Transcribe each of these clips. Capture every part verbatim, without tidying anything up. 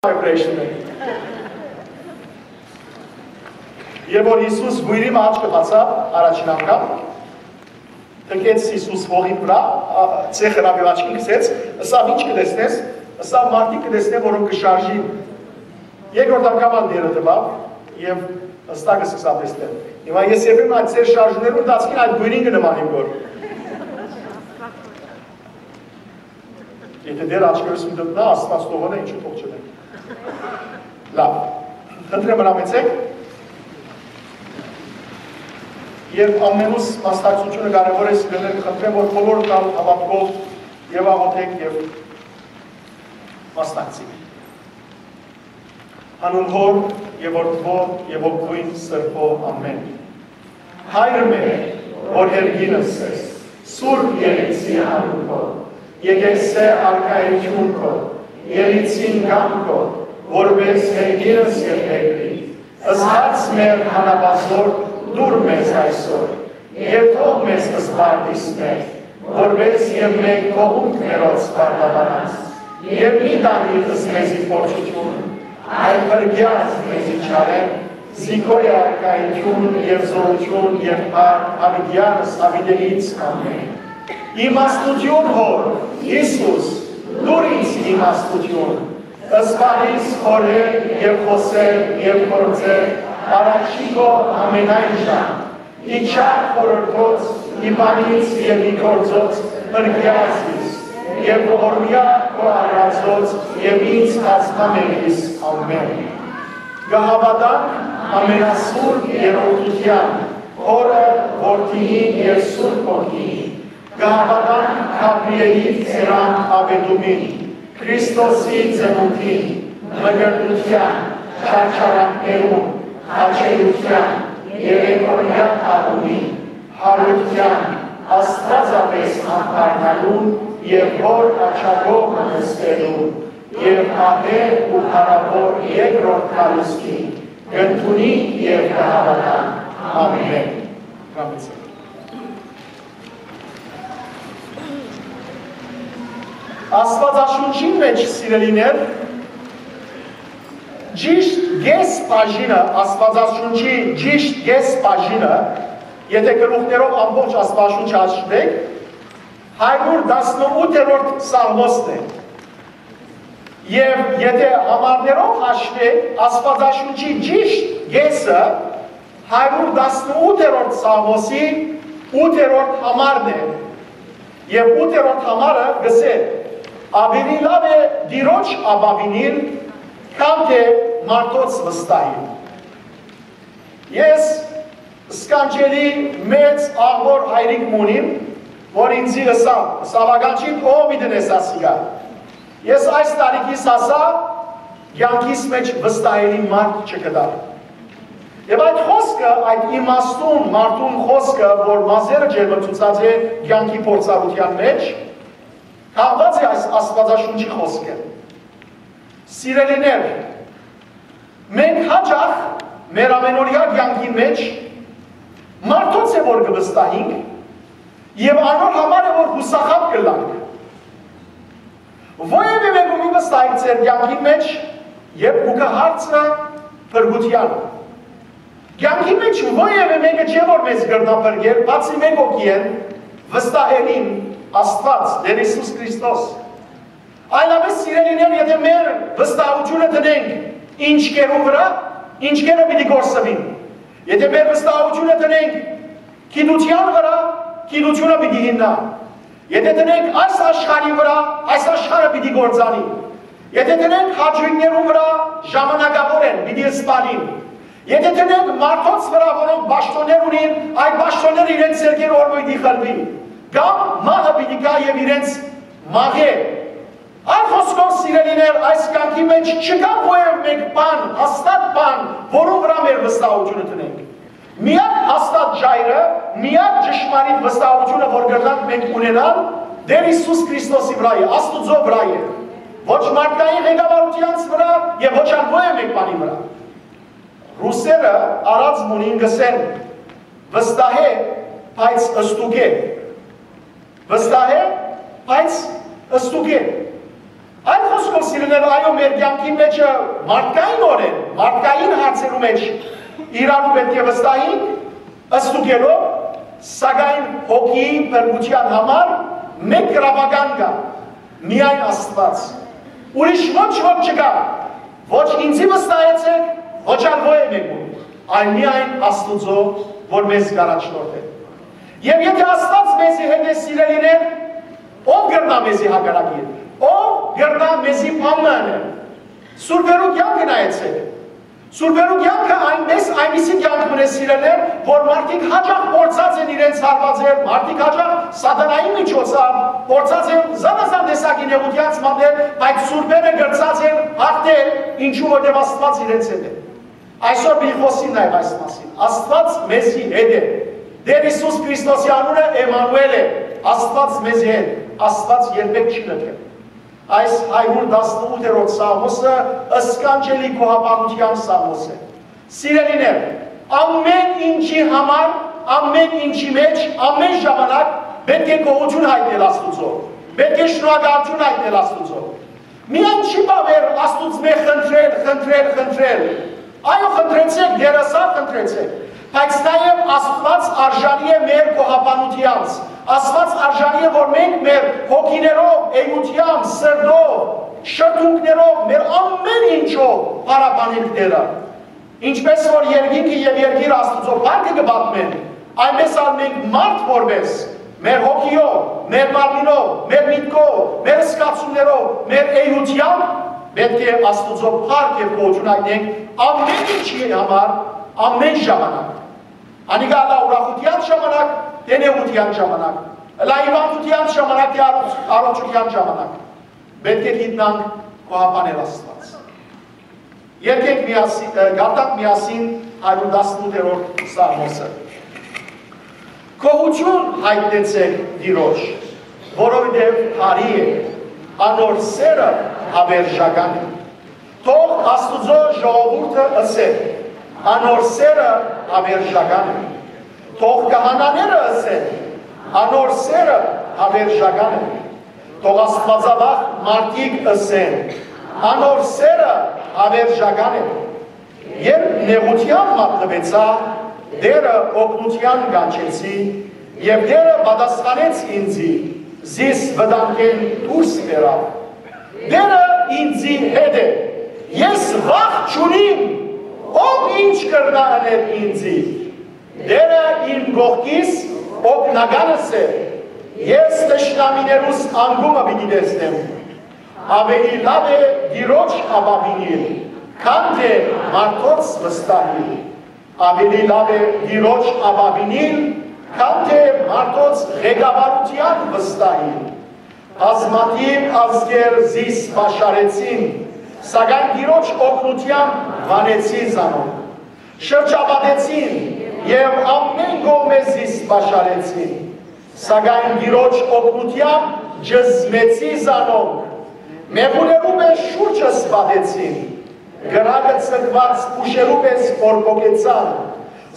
vibration է։ Երբ որ Հիսուս կոյրի մը աչքը բացաւ առաջին անգամ, թքեց Հիսուս հողի վրայ, ա, ցեխը լաւ աչքին գցեց, ըսաւ. «Ի՞նչ կը տեսնես»։ Ըսաւ. «Մարդիկ կը տեսնեմ, որոնք կը շարժին»։ Երկրորդ անգամ ալ դերը տուաւ եւ հստակ սկսաւ տեսնել։ Հիմա ես երբեմն այդ ձեր շարժումներու ընթացքին այդ գոյրին կը նմանեմ, որ եթե դեր աչքերս մտտնայ, Աստված թող ընէ, ինչու թող չընէ։ Լաւ, խնդրեմ, մնամեցեք։ Եւ ամենուս մասնակցությունը կարեւոր է, սիրելիներ, խնդրեմ, որ բոլոր տան հավատքով եւ աղոթեք եւ մասնակցին։ Անուն Հօր եւ Որդւոյ եւ Ոգին Սրբոյ, ամէն։ Հայր մեր, որ երկինս ես, սուրբ եղեցի անուն քո, եկեղեցի արքայություն քո, եկեղեցին կամ քո, որպես երկինս եւ երկրի։ Ըսած մեր հանապազոր դուր մեզ այսօր, եւ թող մեզ սպարտիս մեր, որպես եւ մենք թողունք մերոց սպարտաբանած, եւ մի տանիր մեզի փորձութիւն, այլ փրկեաց մեզի չարէն, զինքոյ արքայություն եւ զորություն եւ փառք յաւիտեանս յաւիտելից։ Ամէն։ Իմաստութիւն Հօր, Յիսուս, դուր ինձ իմաստութիւն, սպանիս խորհել եւ խօսել եւ գործել առաջի քո ամենայն ժամ, ի չար խորհրդոց, ի բանից եւ ի գործոց փրկեաս իս, եւ ողորմեայ քո արարածոց եւ ինձ կազմամեղիս։ Ամէն։ Կը հաւատանք ամենասուրբ երրորդութեան, Հօրը, Որդիին եւ Սուրբ Հոգիին, կը հաւատանք Գաբրիէլի ծերան աւետումին, Քրիստոսի ծնունդին, մկրտութեան, չարչարանքներուն, խաչելութեան, երեկոյեան թաղումին, յարութեան, Աստուածապէս անդառնալուն եւ Հօր աջակողմը նստելուն, եւ ահէ ու փառաւոր երկրորդ գալուստին, կ'ընդունինք եւ կ'հաւատանք։ Ամէն։ Աստուածաշունչին մէջ, սիրելիներ, ճիշդ կէս բաժինը, Աստուածաշունչի ճիշդ կէս բաժինը, եթե գլուխներով ամբողջ Աստուածաշունչը հաշուենք, հարիւր տասնութերորդ Սաղմոսն է։ Եւ եթե համարներով հաշուենք, Աստուածաշունչի ճիշտ կէսը հարիւր տասնութերորդ Սաղմոսի ութերորդ համարն է։ Եւ ութերորդ համարը կ'ըսէ. «Աւելի լաւ է Տիրոջ ապաւինիլ, քան թէ մարդոց վստահիլ»։ Ես սքանչելի մեծ աղուոր հայրիկ մը ունիմ, որ ինձի ըսաւ, ըսաւ. «Ականջիդ ո՞վ պիտի նես ասիկա»։ Ես այս տարիքիս հասայ, կեանքիս մէջ վստահելի մարդ չգտայ։ Եւ այդ խօսքը, այդ իմաստուն մարդուն խօսքը, որ մազերը ջերմեցուցած է կեանքի փորձառութեան մէջ, կախուած է այս Աստուածաշունչի խօսքը։ Սիրելիներ, մենք յաճախ մեր ամենօրեայ կեանքի մէջ մարդոց է, որ կը վստահենք, եւ անոր համար է, որ յուսախաբ կ'ըլլանք։ Որեւէ մէկու մի վստահեք ձեր կեանքի մէջ, երբ կու գայ հարցը փրկութեան։ Կեանքի մէջ որեւէ մէկը չէ, որ մեզ կրնայ փրկել, բացի մէկ հոգիէն, վստահելին, Աստուած, Տէր Յիսուս Քրիստոս։ Այլապէս, սիրելիներ, եթե մեր վստահութիւնը դնենք ինչքերու վրայ, ինչքերը պիտի կորսուին։ Եթե մեր վստահութիւնը դնենք գիտութեան վրայ, գիտութիւնը պիտի յիննայ։ Եթե դնենք այս աշխարհի վրայ, այս աշխարհը պիտի կործանի։ Եթե դնենք հաճոյքներուն վրայ, ժամանակաւոր են, պիտի սպանին։ Եթե դնենք մարդոց վրայ, որոնք պաշտօններ ունին, այդ պաշտօնները իրենց ձեռքերու օրը պիտի խլուի, կամ մահը պիտի գայ եւ իրենց մաղէ։ Այլ խօսքով, սիրելիներ, այս կեանքի մէջ չկայ որեւէ մէկ բան, հաստատ բան, որուն վրայ մեր վստահութիւնը դնենք։ Միակ հաստատ ժայռը, միակ ճշմարիտ վստահութիւնը, որ կրնանք մենք ունենալ, Տէր Յիսուս Քրիստոսի վրայ է, Աստուծոյ վրայ է, ոչ մարդկային ղեկավարութեանց վրայ եւ ոչ ալ որեւէ մէկ բանի վրայ։ Ռուսերը առած մունին կ'ըսեն. «Վստահ է, բայց ստուգ է»։ Վստահ է, բայց ստուգ է։ Այլ խօսքով, սիրելիներ, այո, մեր կեանքին մէջ մարդկայինօրէն, մարդկային հարցերու մէջ իրարու պէտք է վստահենք, ստուգելով, սակայն հոգիի փրկութեան համար մէկ գրաւական կայ, միայն Աստուած։ Ուրիշ ոչ ոք չկայ, ոչ ինծի վստահեցէք, ոչ ալ ոեւէ մէկուն, այլ միայն Աստուծոյ, որ մեզ կ'առաջնորդէ։ Եւ եթէ Աստուած մեզի հետ է, սիրելիներ, ո՞վ կրնայ մեզի հակառակիլ, ո՞վ կրնայ մեզի բան մը ընել։ Սուրբերու կեանքը նայեցէք։ Սուրբերու կեանքը այնպես, այնպիսի կեանք մնե, սիրելիներ, որ մարդիկ յաճախ փորձած են իրենց հարվածել, մարդիկ յաճախ սատանայի միջոցով փորձած են զանազան տեսակի նեղութեանց մատնել, բայց սուրբերը կրցած են հաղթել, ինչու որտեղ Աստուած իրենց հետ է։ Այսօր պիտի խօսին նաեւ այս մասին։ Աստուած մեզի հետ է։ Տէր Յիսուս Քրիստոսի անունը Էմմանուէլ է։ Աստուած մեզի հետ։ Աստուած երբեք չի լքել։ Այս հարիւր տասնութերորդ սաղմոսը սքանչելի գոհաբանութեան սաղմոս է։ Սիրելիներ, ամէն ինչի համար, ամէն ինչի մէջ, ամէն ժամանակ պէտք է գոհութիւն յայտնել Աստուծոյ, պէտք է շնորհակալութիւն յայտնել Աստուծոյ։ Միայն չի բաւեր Աստուծմէ խնդրել, խնդրել, խնդրել։ Այո, խնդրեցէք, Տէր ըսաւ, խնդրեցէք, բայց նաեւ Աստուած արժանի է մեր գոհաբանութեանց, Աստուած արժանի է, որ մենք մեր հոգիներով, էութեամբ, սրտով, շրթունքներով, մեր ամէն ինչով փառաբանենք Տէրը։ Ինչպէս որ երկինքը եւ երկիրը Աստուծոյ փառքը կը պատմեն, այնպէս ալ մենք մարդ որպէս, մեր հոգիով, մեր մարմինով, մեր միտքով, մեր զգացումներով, մեր էութեամբ պէտք է Աստուծոյ փառք եւ գոհութիւն յայտնենք ամէն ինչի համար, ամէն ժամանակ։ Անիկա ըլլայ ուրախութեան ժամանակ, թէ նեղութեան ժամանակ, ըլլայ հիւանդութեան ժամանակ, թէ առողջ-, առողջութեան ժամանակ։ Պէտք է գիտնանք գոհաբանել Աստուած։ Երկենք միասին, ը, կարդանք միասին հարիւր տասնութերորդ սաղմոսը։ Գոհութիւն յայտնեցէք Տիրոջ, որովհետեւ բարի է, անոր սէրը յաւերժական է։ Թող Աստուծոյ ժողովուրդը ըսէ. «Անոր սէրը յաւերժական է»։ Թող քահանաները ըսեն. «Անոր սէրը յաւերժական է»։ Թող աստուածավախ մարդիկ ըսեն. «Անոր սէրը յաւերժական է»։ Երբ նեղութեան մատնուեցայ, Տէրը օգնութեան կանչեցի, եւ Տէրը պատասխանեց ինծի, զիս վտանգէն դուրս բերաւ։ Տէրը ինծի հետ է, ես վախ չունիմ, ով ինչ կրնայ ընել ինծի։ Տէրը իմ կողքիս, օգնականս է, ես թշնամիներուս անկումը պիտի տեսնեմ։ Աւելի լաւ է Տիրոջ ապաւինիլ, քան թէ մարդոց վստահիլ։ Աւելի լաւ է Տիրոջ ապաւինիլ, քան թէ մարդոց ղեկավարութեան վստահիլ։ Բազմաթիւ ազգեր զիս պաշարեցին, սակայն Տիրոջ օգնութեամբ վանեցի զանոնք։ Շրջապատեցին եւ ամէն կողմէ զիս պաշարեցին, սակայն Տիրոջ օգնութեամբ ճզմեցի զանոնք։ Մեղուներու մէջ շուրջս պատեցին, կրակը ցկուած փուշերու պէս բորբոքեցան,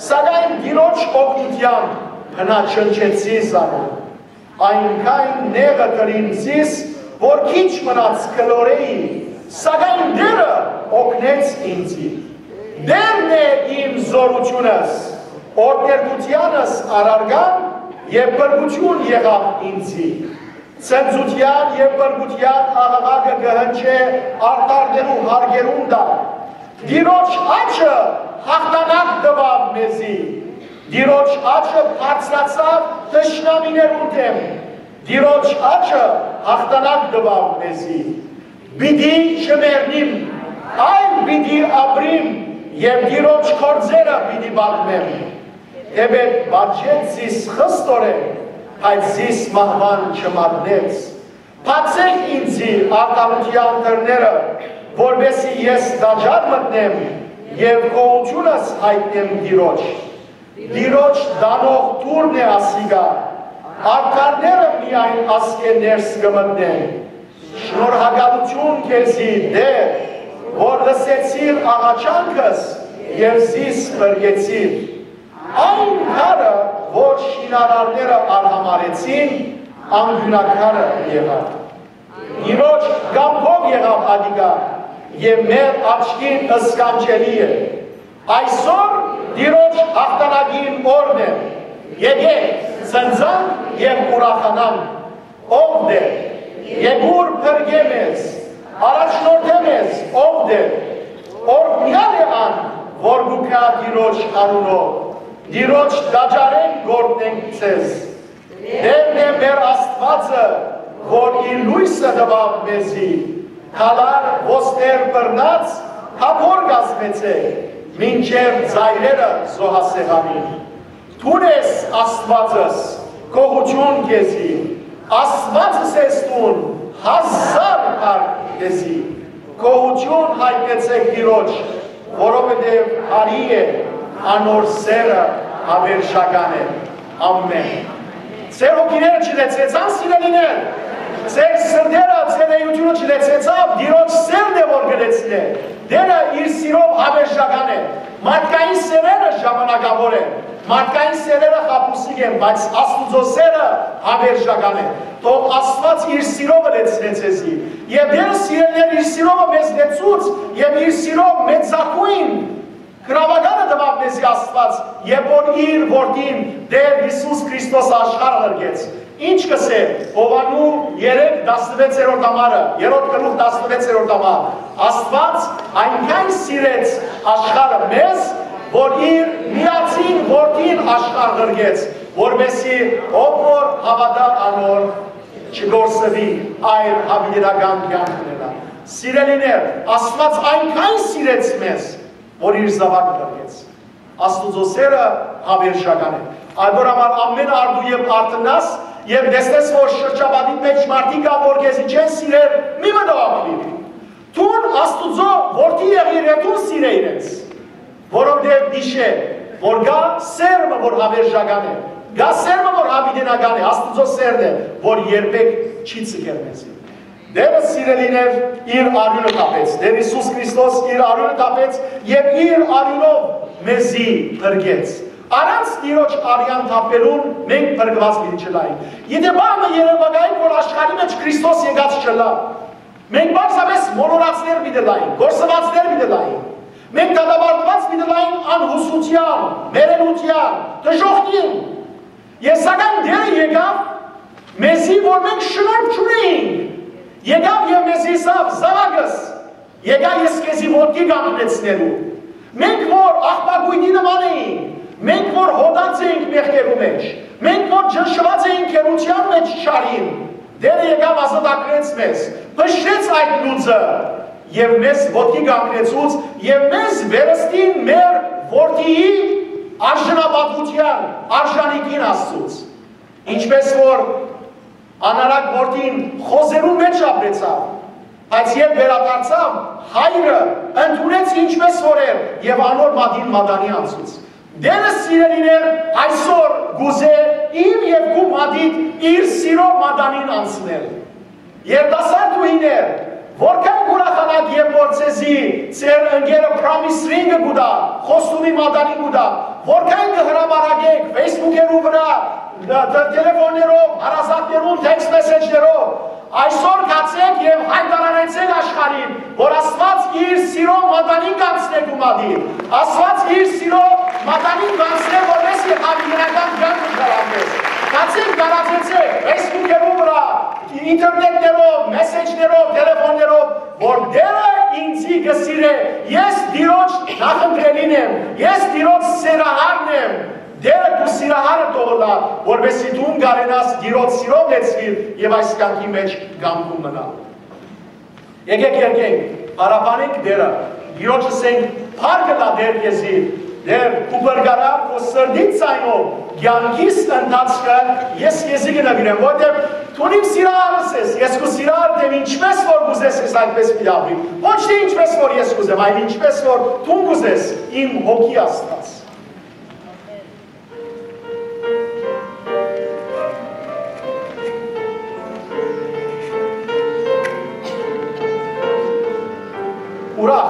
սակայն Տիրոջ օգնութեամբ բնաջնջեցի զանոնք։ Այնքան նեղը կրին զիս, որ քիչ մնաց կլորեի, սակայն Տէրը օգնեց ինձի։ Տէրն է իմ զօրութիւնս, օրհներգութեանս առարկան եւ փրկութիւն եղաւ ինձի։ Ցնծութեան եւ փրկութեան աղաղակը կը հնչէ արդարներու հարկերուն տակ։ Տիրոջ աջը յաղթանակ տուաւ մեզի։ Տիրոջ աջը բարձրացաւ թշնամիներուն դէմ։ Տիրոջ աջը յաղթանակ տուաւ մեզի։ Պիտի չմեռնիմ, այլ պիտի ապրիմ եւ Տիրոջ գործերը պիտի պատմեմ։ Թէպէտ պատժեց զիս խստորեն, բայց զիս մահուան չմատնեց։ Բացէք ինծի արդարութեան դռները, որպէսզի ես տաճար մտնեմ եւ գոհութիւնս յայտնեմ Տիրոջ։ Տիրոջ տանող դուռն է ասիկա, արդարները միայն ասկէ ներս կը մտնեն։ Շնորհակալութիւն քեզի, Տէր, որ լսեցիր աղաչանքս եւ զիս փրկեցիր։ Այն քարը, որ շինարարները արհամարհեցին, անկիւնակարը եղաւ։ Տիրոջ Կամքով եղաւ ատիկա եւ մեր աչքին սքանչելի է։ Այսօր Տիրոջ յաղթանակին օրն է։ Եկէք, ծնծանք եւ ուրախանանք։ Ով Տէր, եկուր փրկէ մեզ, առաջնորդէ մեզ, ով Տէր, օրհնեալ է ան, որ կու գայ Տիրոջ անունով, Տիրոջ տաճարէն կ'օրհնենք ձեզ։ Տէրն է մեր Աստուածը, որ իր լոյսը տուաւ մեզի, քալար ոստեր բռնած, թափոր կազմեցէ, մինչեւ ծայրերը զոհասեղանին։ Դուն ես Աստուածս, գոհութիւն քեզի, Աստուածս ես դուն, հազար փառք քեզի։ Գոհութիւն յայտնեցէք Տիրոջ, որովհետեւ բարի է, անոր սէրը յաւերժական է։ Ամէն։ Ձեր հոգիները չլեցեցան, սիրելիներ, ձեր սրտերը, ձեր էությունը չլեցեցաւ, Տիրոջ սէրն է որ կը լեցնէ։ Տէրը իր սիրով յաւերժական է։ Մարդկային սէրերը ժամանակաւոր են, մարդկային սէրերը խաբուսիկ են, բայց Աստուծոյ սէրը յաւերժական է։ Թող Աստուած իր սիրովը լեցնէ ձեզի։ Եւ Տէրը, սիրելիներ, իր սիրովը մեզ լեցուց եւ իր սիրով մեծագոյն գրաւականը տուաւ մեզի Աստուած, երբ որ իր որդին Տէր Յիսուս Քրիստոս աշխարհը ղրկեց։ Ինչ կ'ըսէ Յովհաննու երեք տասնվեցերորդ համարը, երրորդ գլուխ տասնվեցերորդ համար. «Աստուած այնքան սիրեց աշխարհը մեզ, որ իր միածին որդին աշխարհ ղրկեց, որպեսզի ով որ հաւատայ անոր չկորսուի, այլ յաւիտենական կեանք ունենայ»։ Սիրելիներ, Աստուած այնքան սիրեց մեզ, որ իր զաւակը ղրկեց։ Աստուծոյ սէրը յաւերժական է։ Այդ որ համար ամէն առտու երբ արթննաս եւ տեսնես, որ շրջապատիդ մէջ մարդիկ կան, որ քեզի չեն սիրեր, մի մտահոգիր։ Դուն Աստուծոյ որդի եղիր եւ դուն սիրէ իրենց, որովհետեւ յիշէ, որ կայ սէր մը, որ յաւերժական է, կայ սէր մը, որ յաւիտենական է, Աստուծոյ սէրն է, որ երբեք չի ձգեր մեզի։ Տէրը, սիրելիներ, իր արիւնը թափեց, Տէր Յիսուս Քրիստոս իր արիւնը թափեց եւ իր արիւնով մեզի փրկեց։ Առանց Տիրոջ արեան թափելուն մենք փրկուած պիտի չլայինք։ Եթէ բան մը երեւակայ, որ աշխարհի մէջ Քրիստոս եկած չըլլայ, մենք պարզապէս մոլորածներ պիտի լայինք, կորսուածներ պիտի լայինք, մենք դատապարտուած պիտի լայինք անհուսութեան, մեռելութեան, դժոխքին։ Եւ սակայն Տէրը եկաւ մեզի, որ մենք շնորհք չունեինք, եկաւ եւ մեզի ըսաւ. «Զաւակս, եկայ ես քեզի ոտքի կանգնեցնելու»։ Մենք որ աղբակոյտի նման էինք, մենք որ հոտած էինք մեղքերու մէջ, մենք որ ճնշուած էինք գերության մէջ չարին, Տէրը եկաւ, ազատագրեց մեզ, փշրեց այդ լուծը եւ մեզ ոտքի կանգնեցուց եւ մեզ վերստին մեր որդիի արժանապատուութեան արժանիքին հասցուց։ Ինչպես որ անարակ որդին խոզերուն մէջ ապրեցաւ, բայց երբ վերադարձաւ, հայրը ընդունեց ինչպես որ էր եւ անոր մատին մատանի անցուց։ Տէրը, սիրելիներ, այսօր կուզէ իմ եւ քու մատիդ իր սիրո մատանին անցնել։ Երիտասարդ ուհիներ, որքան կուրախանաք, երբ որ ձեզի ձեր ընկերը Promise Ring-ը կու տայ, խոստումի մատանին կու տայ, որքան կը հրապարակէք Facebook-երու վրայ, տ-, տ-, տելեֆոններով, հարազատներուն text message-ներով, այսօր գացէք եւ յայտարանեցէք աշխարհին, որ Աստուած իր սիրո մատանին կանցնէ քու մատին, Աստուած իր սիրո մատանին կանցնէ, որպեսզի յաւիտենական կեանքը շարունակես։ Գացէք, տարածեցէք Facebook-երու վրայ, ինտերնետներով, մեսեջներով, տելեֆոններով, որ Տէրը ինձի կը սիրէ, ես Տիրոջ նախընտրելին եմ, ես Տիրոջ սիրահարն եմ, Տէրը քու սիրահարը թող ըլլայ, որպեսզի դուն կարենաս Տիրոջ սիրով լեցուիլ եւ այս կեանքի մէջ կանգուն մնալ։ Եկէք երգենք, փառաբանենք Տէրը, Տիրոջը ասենք. «Փառք ըլլայ Տէր քեզի, Տէր, քու փրկարար, քու սրտի ձայնով, կեանքիս ընթացքը ես քեզի կը նուիրեմ, որովհետեւ դուն իմ սիրահարս ես, ես քու սիրահարդ եմ, ինչպես որ կ'ուզես, ես այդպես պիտի ապրիմ։ Ոչ թե ինչպես որ ես կ'ուզեմ, այլ ինչպես որ դուն կ'ուզես, իմ հոգի Աստուած»։ Ուրախ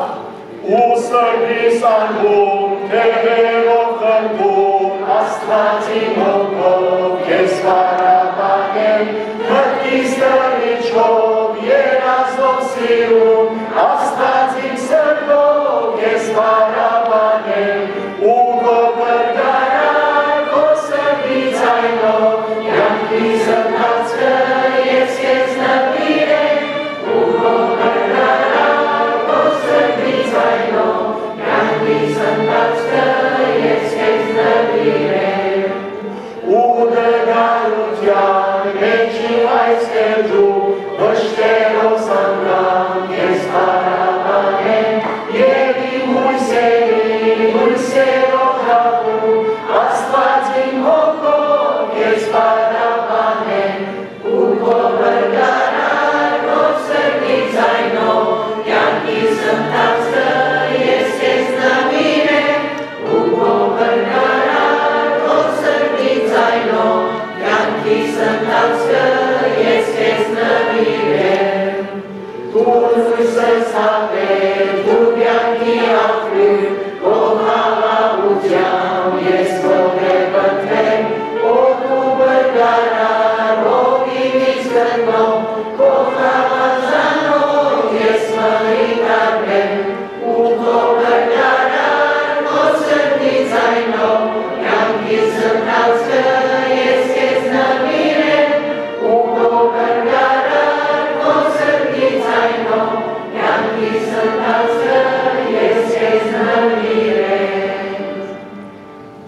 ու սրտիս անկում, թեւերով խնդում, Աստուածին հոգով քեզ փառաբանեմ, մտքիս տրիչով, երազով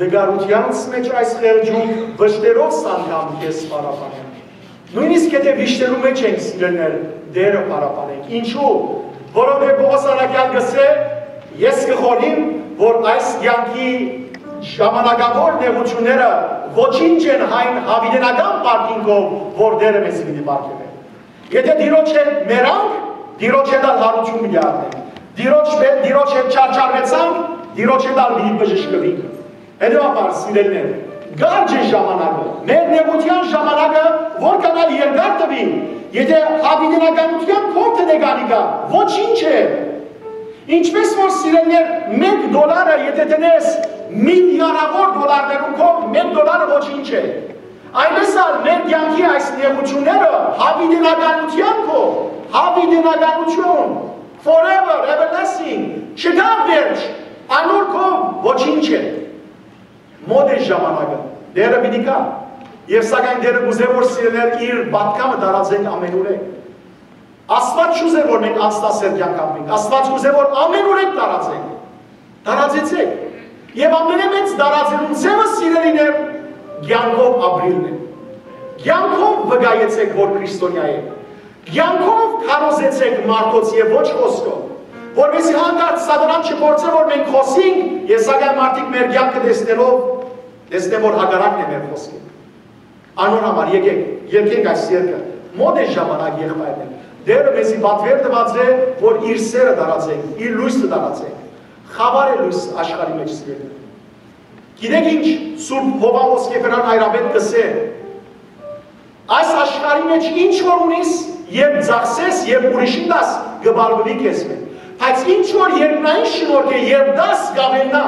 Տկարութեանց մէջ այս խեղճունք վշտերով անգամ քեզ փառաբանենք։ Նոյնիսկ եթէ վիշտերու մէջ ենք, սիրելիներ, Տէրը փառաբանենք։ Ինչու՞։ Որովհետեւ Պողոս առաքեալ կ'ըսէ. «Ես կը խորհիմ, որ այս կեանքի ժամանակաւոր նեղութիւնները ոչինչ են այն յաւիտենական պարգիւնքով, որ Տէրը մեզի պիտի պարգեւէ»։ Եթէ Տիրոջ հետ մեռանք, Տիրոջ հետ ալ յարութիւն պիտի առնենք։ Տիրոջ հետ, Տիրոջ հետ չարչարուեցանք, Տիրոջ հետ ալ պիտի բժշկուինք։ Հետեւաբար, սիրելիներ, կարճ է ժամանակը, մեր նեղութեան ժամանակը, որքան ալ երկար տուի, եթէ յաւիտենականութեան քով դնենք անիկա, ոչինչ է։ Ինչպէս որ, սիրելիներ, մէկ դոլարը, եթէ դնես միլիարդաւոր դոլարներուն քով, մէկ դոլարը ոչինչ է։ Այնպէս ալ մեր կեանքի այս նեղութիւնները յաւիտենականութեան քով, յաւիտենականութիւն, forever, everlasting, չկայ վերջ, անոր քով ոչինչ է։ Մօտ է ժամանակը, Տէրը պիտի գայ, եւ սակայն Տէրը կ'ուզէ, որ, սիրելիներ, իր պատգամը տարածենք ամենուրեք։ Աստուած չ'ուզէ, որ մենք անսնասեր կեանք ապրենք, Աստուած կ'ուզէ, որ ամենուրեք տարածենք։ Տարածեցէք։ Եւ ամենամեծ տարածելու ձեւը, սիրելիներ, կեանքով ապրիլն է։ Կեանքով վկայեցէք, որ քրիստոնեայ եք։ Կեանքով քարոզեցէք մարդոց եւ ոչ խօսքով, որպեսզի հանկարծ սատանան չփորձէ, որ մենք խօսինք, եւ սակայն մարդիկ մեր կեանքը տեսնելով, տեսնեն, որ հակառակն է մեր խօսքին։ Անոր համար եկէք, երգենք այս երգը։ Մօտ է ժամանակ, եղբայրներ։ Տէրը մեզի պատուէր տուած է, որ իր սէրը տարածենք, իր լոյսը տարածենք։ Խաւար է լոյս աշխարհի մէջ, սիրելիներ։ Գիտեք ինչ, Սուրբ Յովհան Ոսկեֆերան հայրապետ կ'ըսէ. «Այս աշխարհի մէջ ինչ որ ունիս, երբ ծախսես, երբ ուրիշին տաս, կը բարբուի քեզմէ։ Բայց ինչ որ երկնային շնորհք է, երբ տաս, կ'աւելնայ։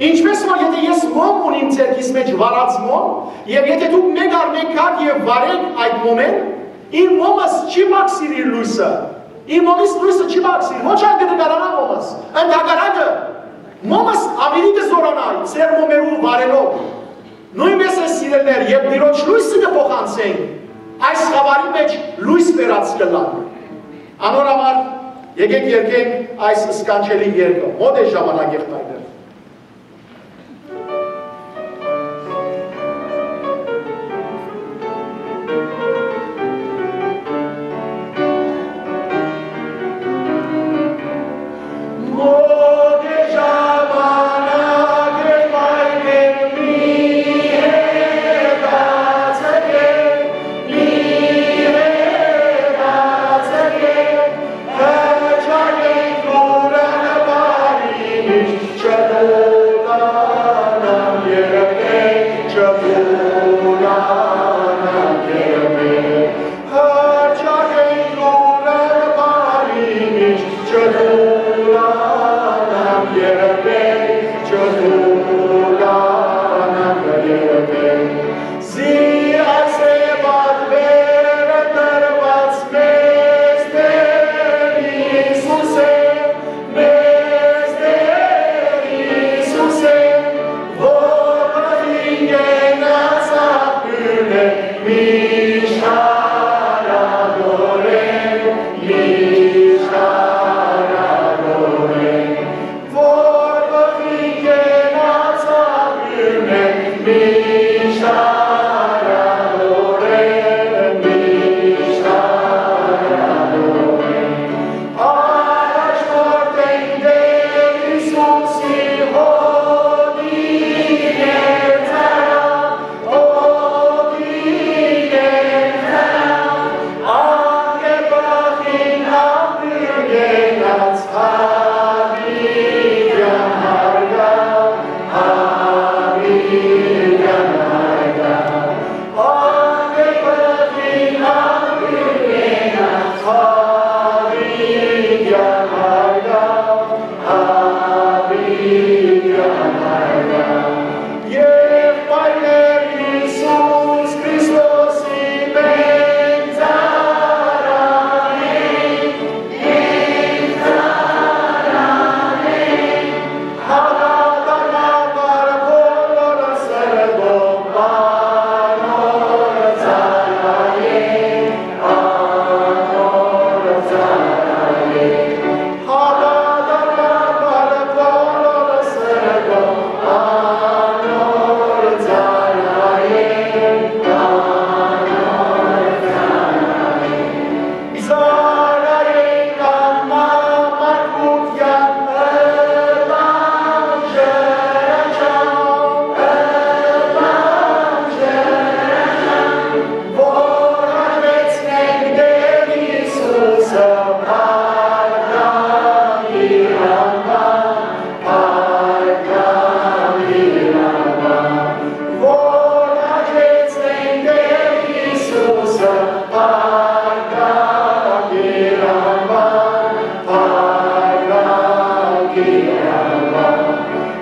Ինչպէս որ եթէ ես մոմ ունիմ ձեռքիս մէջ վառած մոմ, եւ եթէ դուք մէկ առ մէկ գաք եւ վառեք այդ մոմէն, իմ մոմս չի բացիր իր լոյսը, իմ մոմիս լոյսը չի բացիր, ոչ ալ կը նկարանայ մոմս, ընդհակառակը, մոմս աւելի կը զօրանայ ձեր մոմերու վառելով»։ Նոյնպէս է, սիրելիներ, երբ Տիրոջ լոյսը կը փոխանցենք, այս խաւարի մէջ լոյս բերած կ'ըլլանք։ Անոր համար եկէք երգենք այս սքանչելի երգը, մօտ է ժամանակ, եղբայրներ։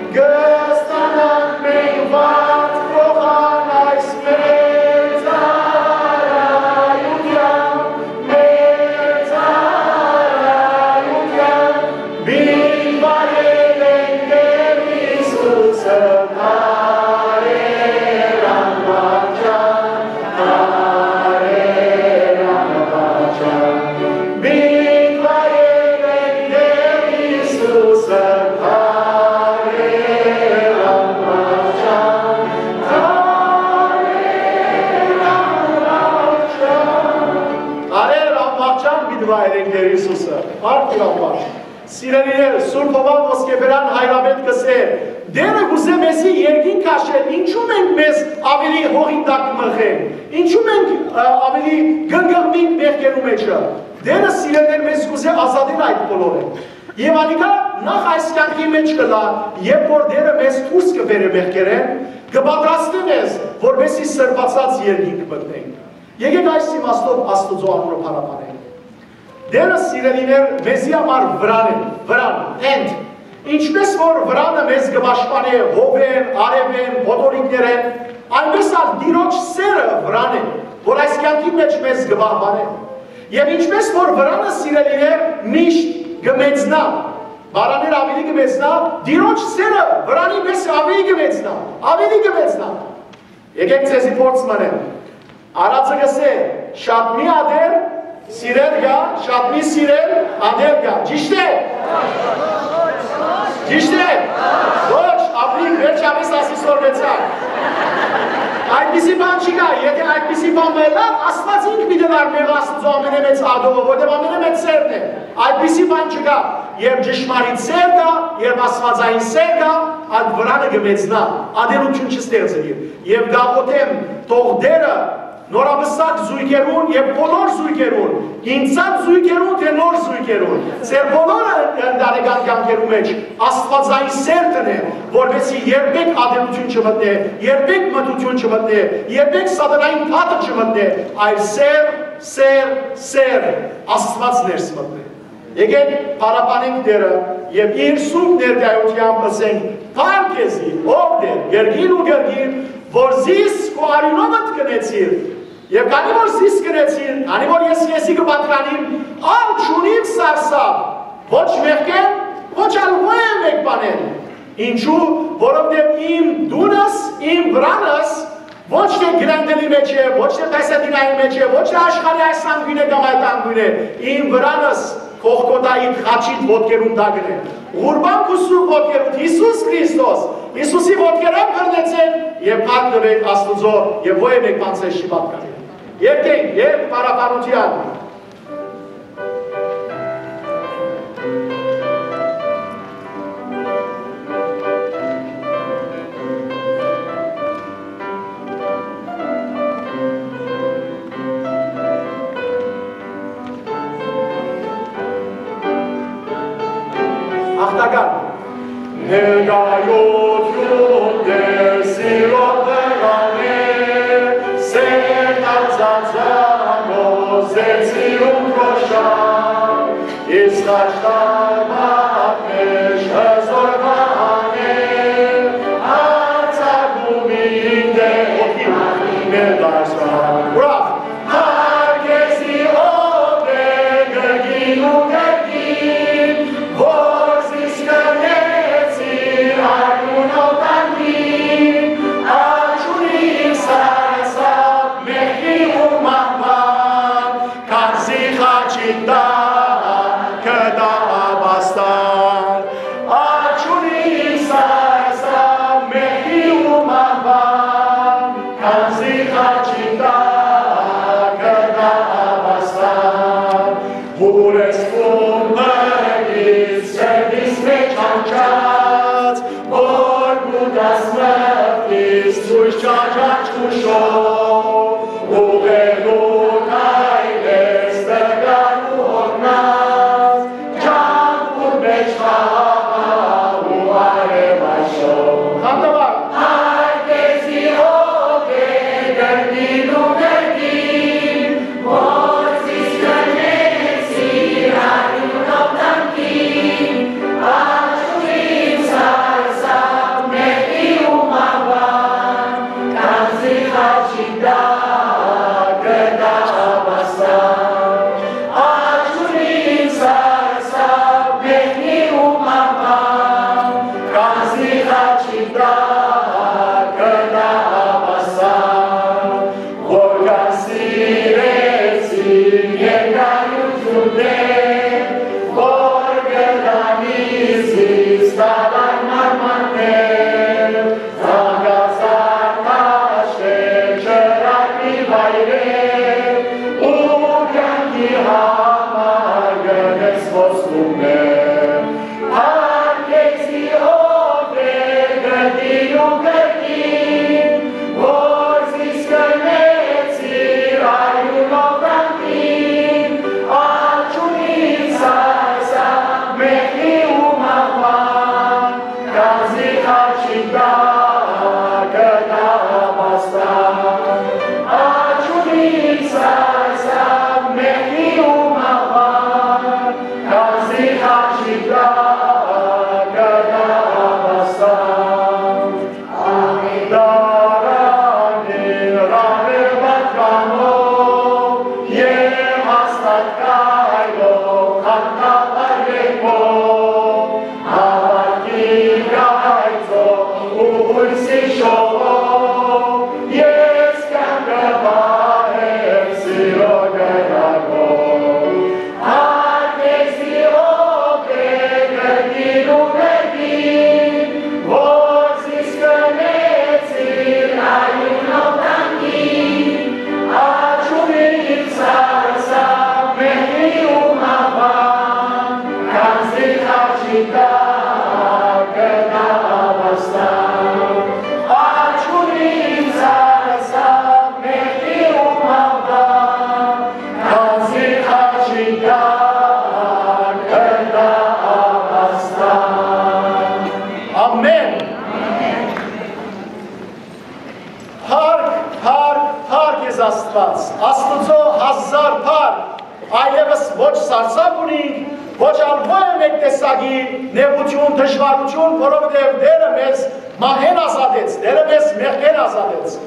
Կը ստանանք մենք վարձ փոխան այս մեծ արարութեան, մեծ արարութեան, մին վայելենք Տէր Յիսուսը, դարեր անվարճան, դարեր անվարճան, մին վայելենք Տէր Յիսուսը, դարեր անվարճան, դարեր անվարճան։ Դարեր անվարճան պիտի վայելենք Տէր Յիսուսը։ Մարդիկ անվարճ։ Սիրելիներ, Սուրբ Հովհան Ոսկեբերան հայրապետ կ'ըսէ. «Տէրը կ'ուզէ մեզի երկինք քաշել, ինչո՞ւ մենք մեզ աւելի հողին տակ մղենք, ինչո՞ւ մենք, ը, աւելի կ'ընկղմենք մեղքերու մէջը»։ Տէրը, սիրելիներ, մեզ կ'ուզէ ազատել այդ բոլորէն։ Եւ անիկա նախ այս կեանքի մէջ կ'ըլլայ, երբ որ Տէրը մեզ դուրս կը բերէ մեղքերէն, կը պատրաստէ մեզ, որպէսզի սրբացած երկինք մտնենք։ Եկէք այս իմաստով Աստուծոյ անունը փառաբանենք։ Տէրը, սիրելիներ, մեզի համար վրան է, վրան, tent։ Ինչպէս որ վրանը մեզ կը պաշտպանէ հովէն, արեւէն, փոթորիկներէն, այնպէս ալ Տիրոջ սէրը վրան է, որ այս կեանքի մէջ մեզ կը պահպանէ։ Եւ ինչպէս որ վրանը, սիրելիներ, միշտ կը մեծնայ, բառաներ աւելի կը մեծնայ, Տիրոջ սէրը վրանի պես աւելի կը մեծնայ, աւելի կը մեծնայ։ Եկէք ձեզի փորձ մնեմ։ Արածը կ'ըսէ. «Շատ մի ատել, սիրել կայ, շատ մի սիրել, ատել կայ»։ Ճիշդ է։ Ճիշդ է։ Ոչ, ապրիք, վերջապէս ասի սորվեցան։ Այդպիսի բան չկայ, եթէ այդպիսի բան մը ըլլար, Աստուած ինք պիտի ըլլար մեղա Աստուծոյ ամենէ մեծ ատողը, որտեղ ամենէ մեծ սերն է։ Այդպիսի բան չկայ, երբ ճշմարիտ սեր կայ, երբ Աստուածային սեր կայ, այդ վրանը կը մեծնայ, ատելութիւն չստեղծուի։ Եւ կ'աղօթեմ, թող Տէրը նորապսակ զոյգերուն եւ բոլոր զոյգերուն, ինքնատիպ զոյգերուն թէ նոր զոյգերուն, ձեր բոլորը ընտանեկան կեանքերու մէջ Աստուածային սեր դնէ, որպէսզի երբեք ատելութիւն չմտնէ, երբեք մթութիւն չմտնէ, երբեք սատանային թաթը չմտնէ, այլ սեր, սեր, սեր, Աստուած ներս մտնէ։ Եկէք փառաբանենք Տէրը եւ իր սուրբ ներկայութեամբ ըսենք. «Փառք քեզի, ով Տէր, կրկին ու կրկին, որ զիս քու արիւնովդ կնեցիր, եւ քանի որ զիս կնեցիր, քանի որ ես քեզի կը պատկանիմ, ալ չունիմ սարսափ, ոչ մեղքէն, ոչ ալ ոեւէ մէկ բանէն։ Ինչու՞, որովհետեւ իմ տունս, իմ վրանս ոչ թէ Կրենդելի մէջ է, ոչ թէ Պեսեդինայի մէջ է, ոչ թէ աշխարհի այս անկիւնը կամ այդ անկիւնը, իմ վրանս Կողկոթայի խաչին ոտքերուն տակն է։ Ղուրբան քու սուրբ ոտքերուդ, Յիսուս Քրիստոս, Յիսուսի ոտքերէն բռնեցէք եւ փառք տուէք Աստուծոյ, եւ ոեւէ մէկ բան ձեզ չի պատկանի»։ Երգենք, երգ փառաբանութեան։ Աղթական։ Ներկայություն Տեր սիրո վրան է, սեր դարձած ամոս ձեր սիրուն փոշան, իսկ աշտարակ մէջ հզոր վահան է, արձակում ինտե օդի մարտի մեր դարձան։ Ուրախ։ Փառք քեզի, ով Տէր, կրկին ու կրկին, որ զիս կրնեցիր արիւնով տանտին, ալ չունիմ սարսափ մեղքի ու մահուան, քանզի խաչի տակ կտայ ապաստան։ Ալ չունիմ սարսափ մեղքի ու մահուան, քանզի խաչի տակ կտայ ապաստան։ Ուրեսկուն մրգից սրտիս մէջ անջած, որ կու տաս մրգից ցոյց չարչարչ քուշով, ուղերդու քայլես տկար ու հոգնած, ջամբուր մէջ խաղաղ ու արեւայրով։ Խանդավառ։ Փառք քեզի, ով Տէր, կրկին ու կրկին, որ զիս կրնեցիր արիւնով տանտին, Աստուծոյ հազար փառք, այլեւս ոչ սարսափ ունինք, ոչ ալ ոյ մէկ տեսակի նեղութիւն, դժուարութիւն, որովհետեւ Տէրը մեզ մահէն ազատեց, Տէրը մեզ մեղքէն ազատեց։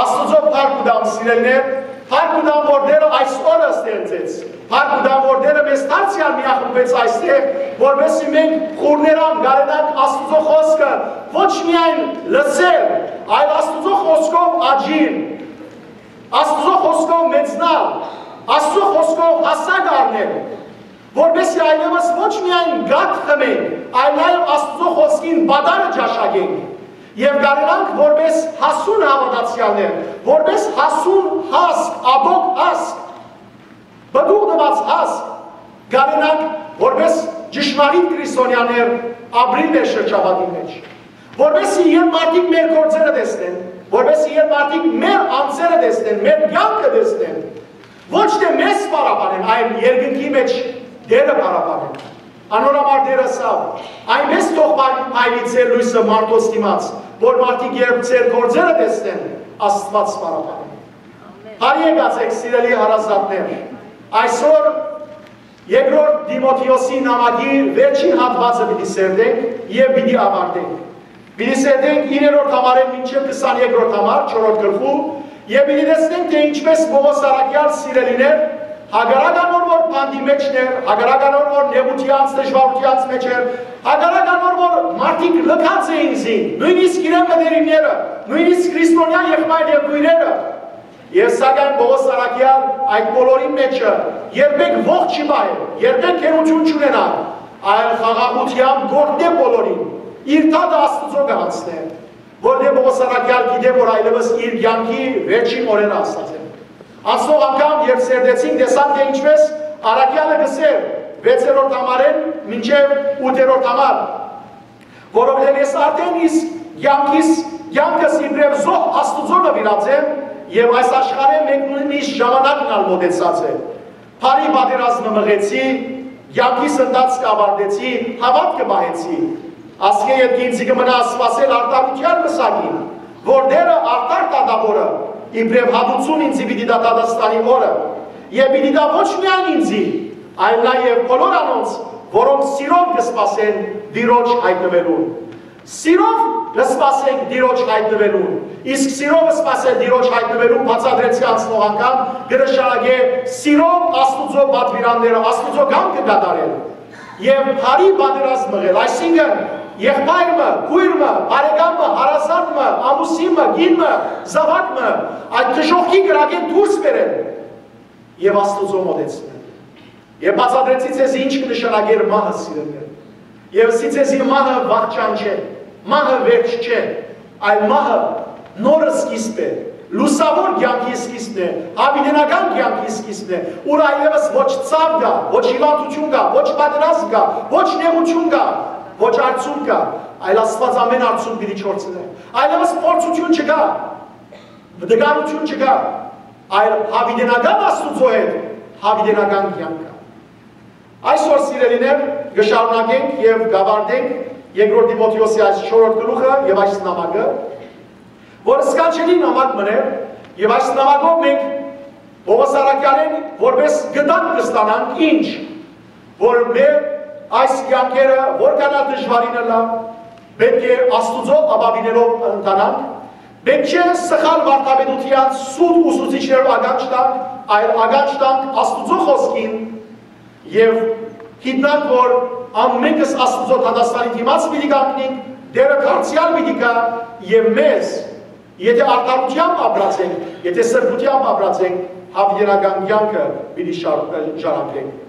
Աստուծոյ փառք կու տամ, սիրելիներ, փառք կու տամ, որ Տէրը այս օրը ստեղծեց, փառք կու տամ, որ Տէրը մեզ դարձեալ միախմբեց այստեղ, որպեսզի մենք խուռներամ կարենանք Աստուծոյ խօսքը ոչ միայն լսել, այլ Աստուծոյ խօսքով աճիլ, Աստուծոյ խօսքով մեծնալ, Աստուծոյ խօսքով հասակ առնել, որպեսզի այլեւս ոչ միայն կաթ խմենք, այլ նաեւ Աստուծոյ խօսքին պատառը ճաշակենք եւ կարենանք որպես հասուն հաւատացեալներ, որպես հասուն հասկ, ատոք հասկ, պտուղ տուած հասկ, կարենանք որպես ճշմարիտ քրիստոնեաներ ապրիլ մեր շրջապատին մեջ, որպեսզի երբ մարդիկ մեր գործերը տեսնեն, որպեսզի երբ մարդիկ մեր անձերը տեսնեն, մեր կյանքը տեսնեն, ոչ թէ մեզ փառաբանեն, այլ երկնքի մեջ Տէրը փառաբանեն։ Անոր համար Տէրը ըսաւ. «Այնպես թող փայ-, փայլի ձեր լոյսը մարդոց դիմաց, որ մարդիկ երբ ձեր գործերը տեսնեն, Աստուած փառաբանեն»։ Բարի եկած եք, սիրելի հարազատներ։ Այսօր երկրորդ Տիմոթէոսի նամակի վերջին հատուածը պիտի սերտենք եւ պիտի ավարտենք։ Պիտի սերտենք իններորդ համարէն մինչեւ քսաներկրորդ համար, չորրորդ գլխու, եւ պիտի տեսնենք, թէ ինչպես Պողոս առաքեալ, սիրելիներ, հակառակ անոր որ բանտի մէջն էր, հակառակ անոր որ նեղութեանց, դժուարութեանց մէջ էր, հակառակ անոր որ մարդիկ լքած էին զին, նոյնիսկ իրեն մտերիմները, նոյնիսկ քրիստոնեայ եղբայր եւ քոյրերը, եւ սակայն Պողոս առաքեալ այդ բոլորին մէջը երբեք ոխ չի պահեր, երբեք գերութիւն չունենայ, այլ խաղաղութեամբ կ'օգնէ բոլորին, իր դատը Աստուծոյ կը յանցնէ, որտեղ Պողոս առաքեալ գիտէ, որ այլեւս իր կեանքի վերջին օրերը հասած են։ Անցնող անգամ, երբ սերտեցինք, տեսանք, թէ ինչպես առաքեալը կ'ըսէր վեցերորդ համարէն մինչեւ ութերորդ համար, որովհետեւ ես արդէն իսկ կեանքիս, կեանքս իբրեւ զոհ Աստուծոյ նուիրած եմ, եւ այս աշխարհէն մեկնումիս ժամանակն ալ մօտեցած է։ Բարի պատերազմը մղեցի, կեանքիս ընթացքը աւարտեցի, հաւատքը պահեցի։ Ասկէ ետք ինծի կը մնայ սպասել արդարութեան մսակին, որ Տէրը արդար դատաւորը իբրեւ հատուցում ինծի պիտի տայ դատաստանի օրը, եւ պիտի տայ ոչ միայն ինծի, այլ նաեւ բոլոր անոնց, որոնք սիրով կը սպասեն Տիրոջ յայտնուելուն։ Սիրով կը սպասենք Տիրոջ յայտնուելուն, իսկ սիրով սպասել Տիրոջ յայտնուելուն, բացատրեցի անցնող անգամ, կը նշանակէ սիրով Աստուծոյ պատուիրանները, Աստուծոյ կամքը կատարել եւ բարի պատերազմ մղել, այսինքն՝ եղբայր մը, քոյր մը, բարեկամ մը, հարազատ մը, ամուսին մը, կին մը, զաւակ մը, այդ դժոխքի կրակէն դուրս բերել եւ Աստուծոյ մօտեցնել։ Եւ բացատրեցի ձեզի ինչ կը նշանակէր մահը, սիրելիներ։ Եւ ըսի ձեզի, մահը վախճան չէ, մահը վերջ չէ, այլ մահը նոր սկիզբ է, լուսաւոր կեանքի սկիզբն է, յաւիտենական կեանքի սկիզբն է, ուր այլեւս ոչ ցաւ կայ, ոչ հիւանդութիւն կայ, ոչ պատերազմ կայ, ոչ նեղութիւն կայ, ոչ արցունք կայ, այլ Աստուած ամէն արցունք պիտի չորցնէ։ Այլեւս փորձութիւն չկայ, տկարութիւն չկայ, այլ յաւիտենական Աստուծոյ հետ յաւիտենական կեանք կայ։ Այսօր, սիրելիներ, կը շարունակենք եւ կ'աւարտենք երկրորդ Տիմոթէոսի այս չորրորդ գլուխը եւ այս նամակը, որ սքանչելի նամակ մըն է, եւ այս նամակով մենք Պողոս առաքեալէն որպես գտակ կը ստանանք ինչ, որ մեր այս կեանքերը որքան ալ դժուարին ըլլայ, պէտք է Աստուծոյ ապաւինելով ընթանանք, պէտք չէ սխալ վարդապետութեան սուտ ուսուցիչներով ականջ տանք, այլ ականջ տանք Աստուծոյ խօսքին, եւ գիտնանք, որ ամէնքս Աստուծոյ դատաստանի դիմաց պիտի կանգնենք, Տէրը դարձեալ պիտի գայ եւ մեզ, եթէ արդարութեամբ ապրած ենք, եթէ սրբութեամբ ապրած ենք, յաւիտենական կեանքը պիտի շար-, ժառանգենք։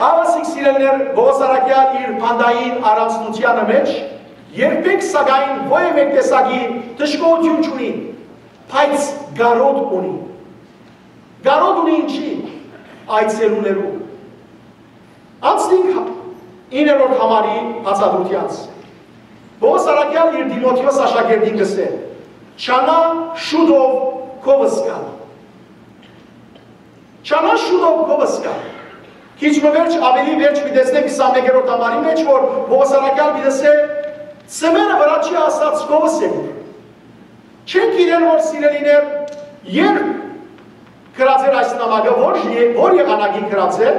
Հաւասիկ, սիրելիներ, Պողոս առաքեալ իր բանտային առանձնութեանը մէջ երբեք, սակայն, ոյ մէկ տեսակի դժգոհութիւն չունի, բայց կարօտ ունի։ Կարօտ ունի ինչի՞, այցելուներու։ Անցնենք հա-, իններորդ համարի բացատրութեանց։ Պողոս առաքեալ իր Տիմոթէոս աշակերտին կ'ըսէ. «Ջանա շուտով քովս գալ»։ «Ջանա շուտով քովս գալ»։ Քիչ մը վերջ, ավելի վերջ պիտի տեսնենք քսանմեկերորդ համարի մէջ, որ Պողոս առաքեալ պիտի ըսէ. «Ծմերը վրայ չի հասած, քովս եմ»։ Չենք իրեր որ, սիրելիներ, երբ Գրած էր այս նամակը, որ, որ եղանակին գրած էր,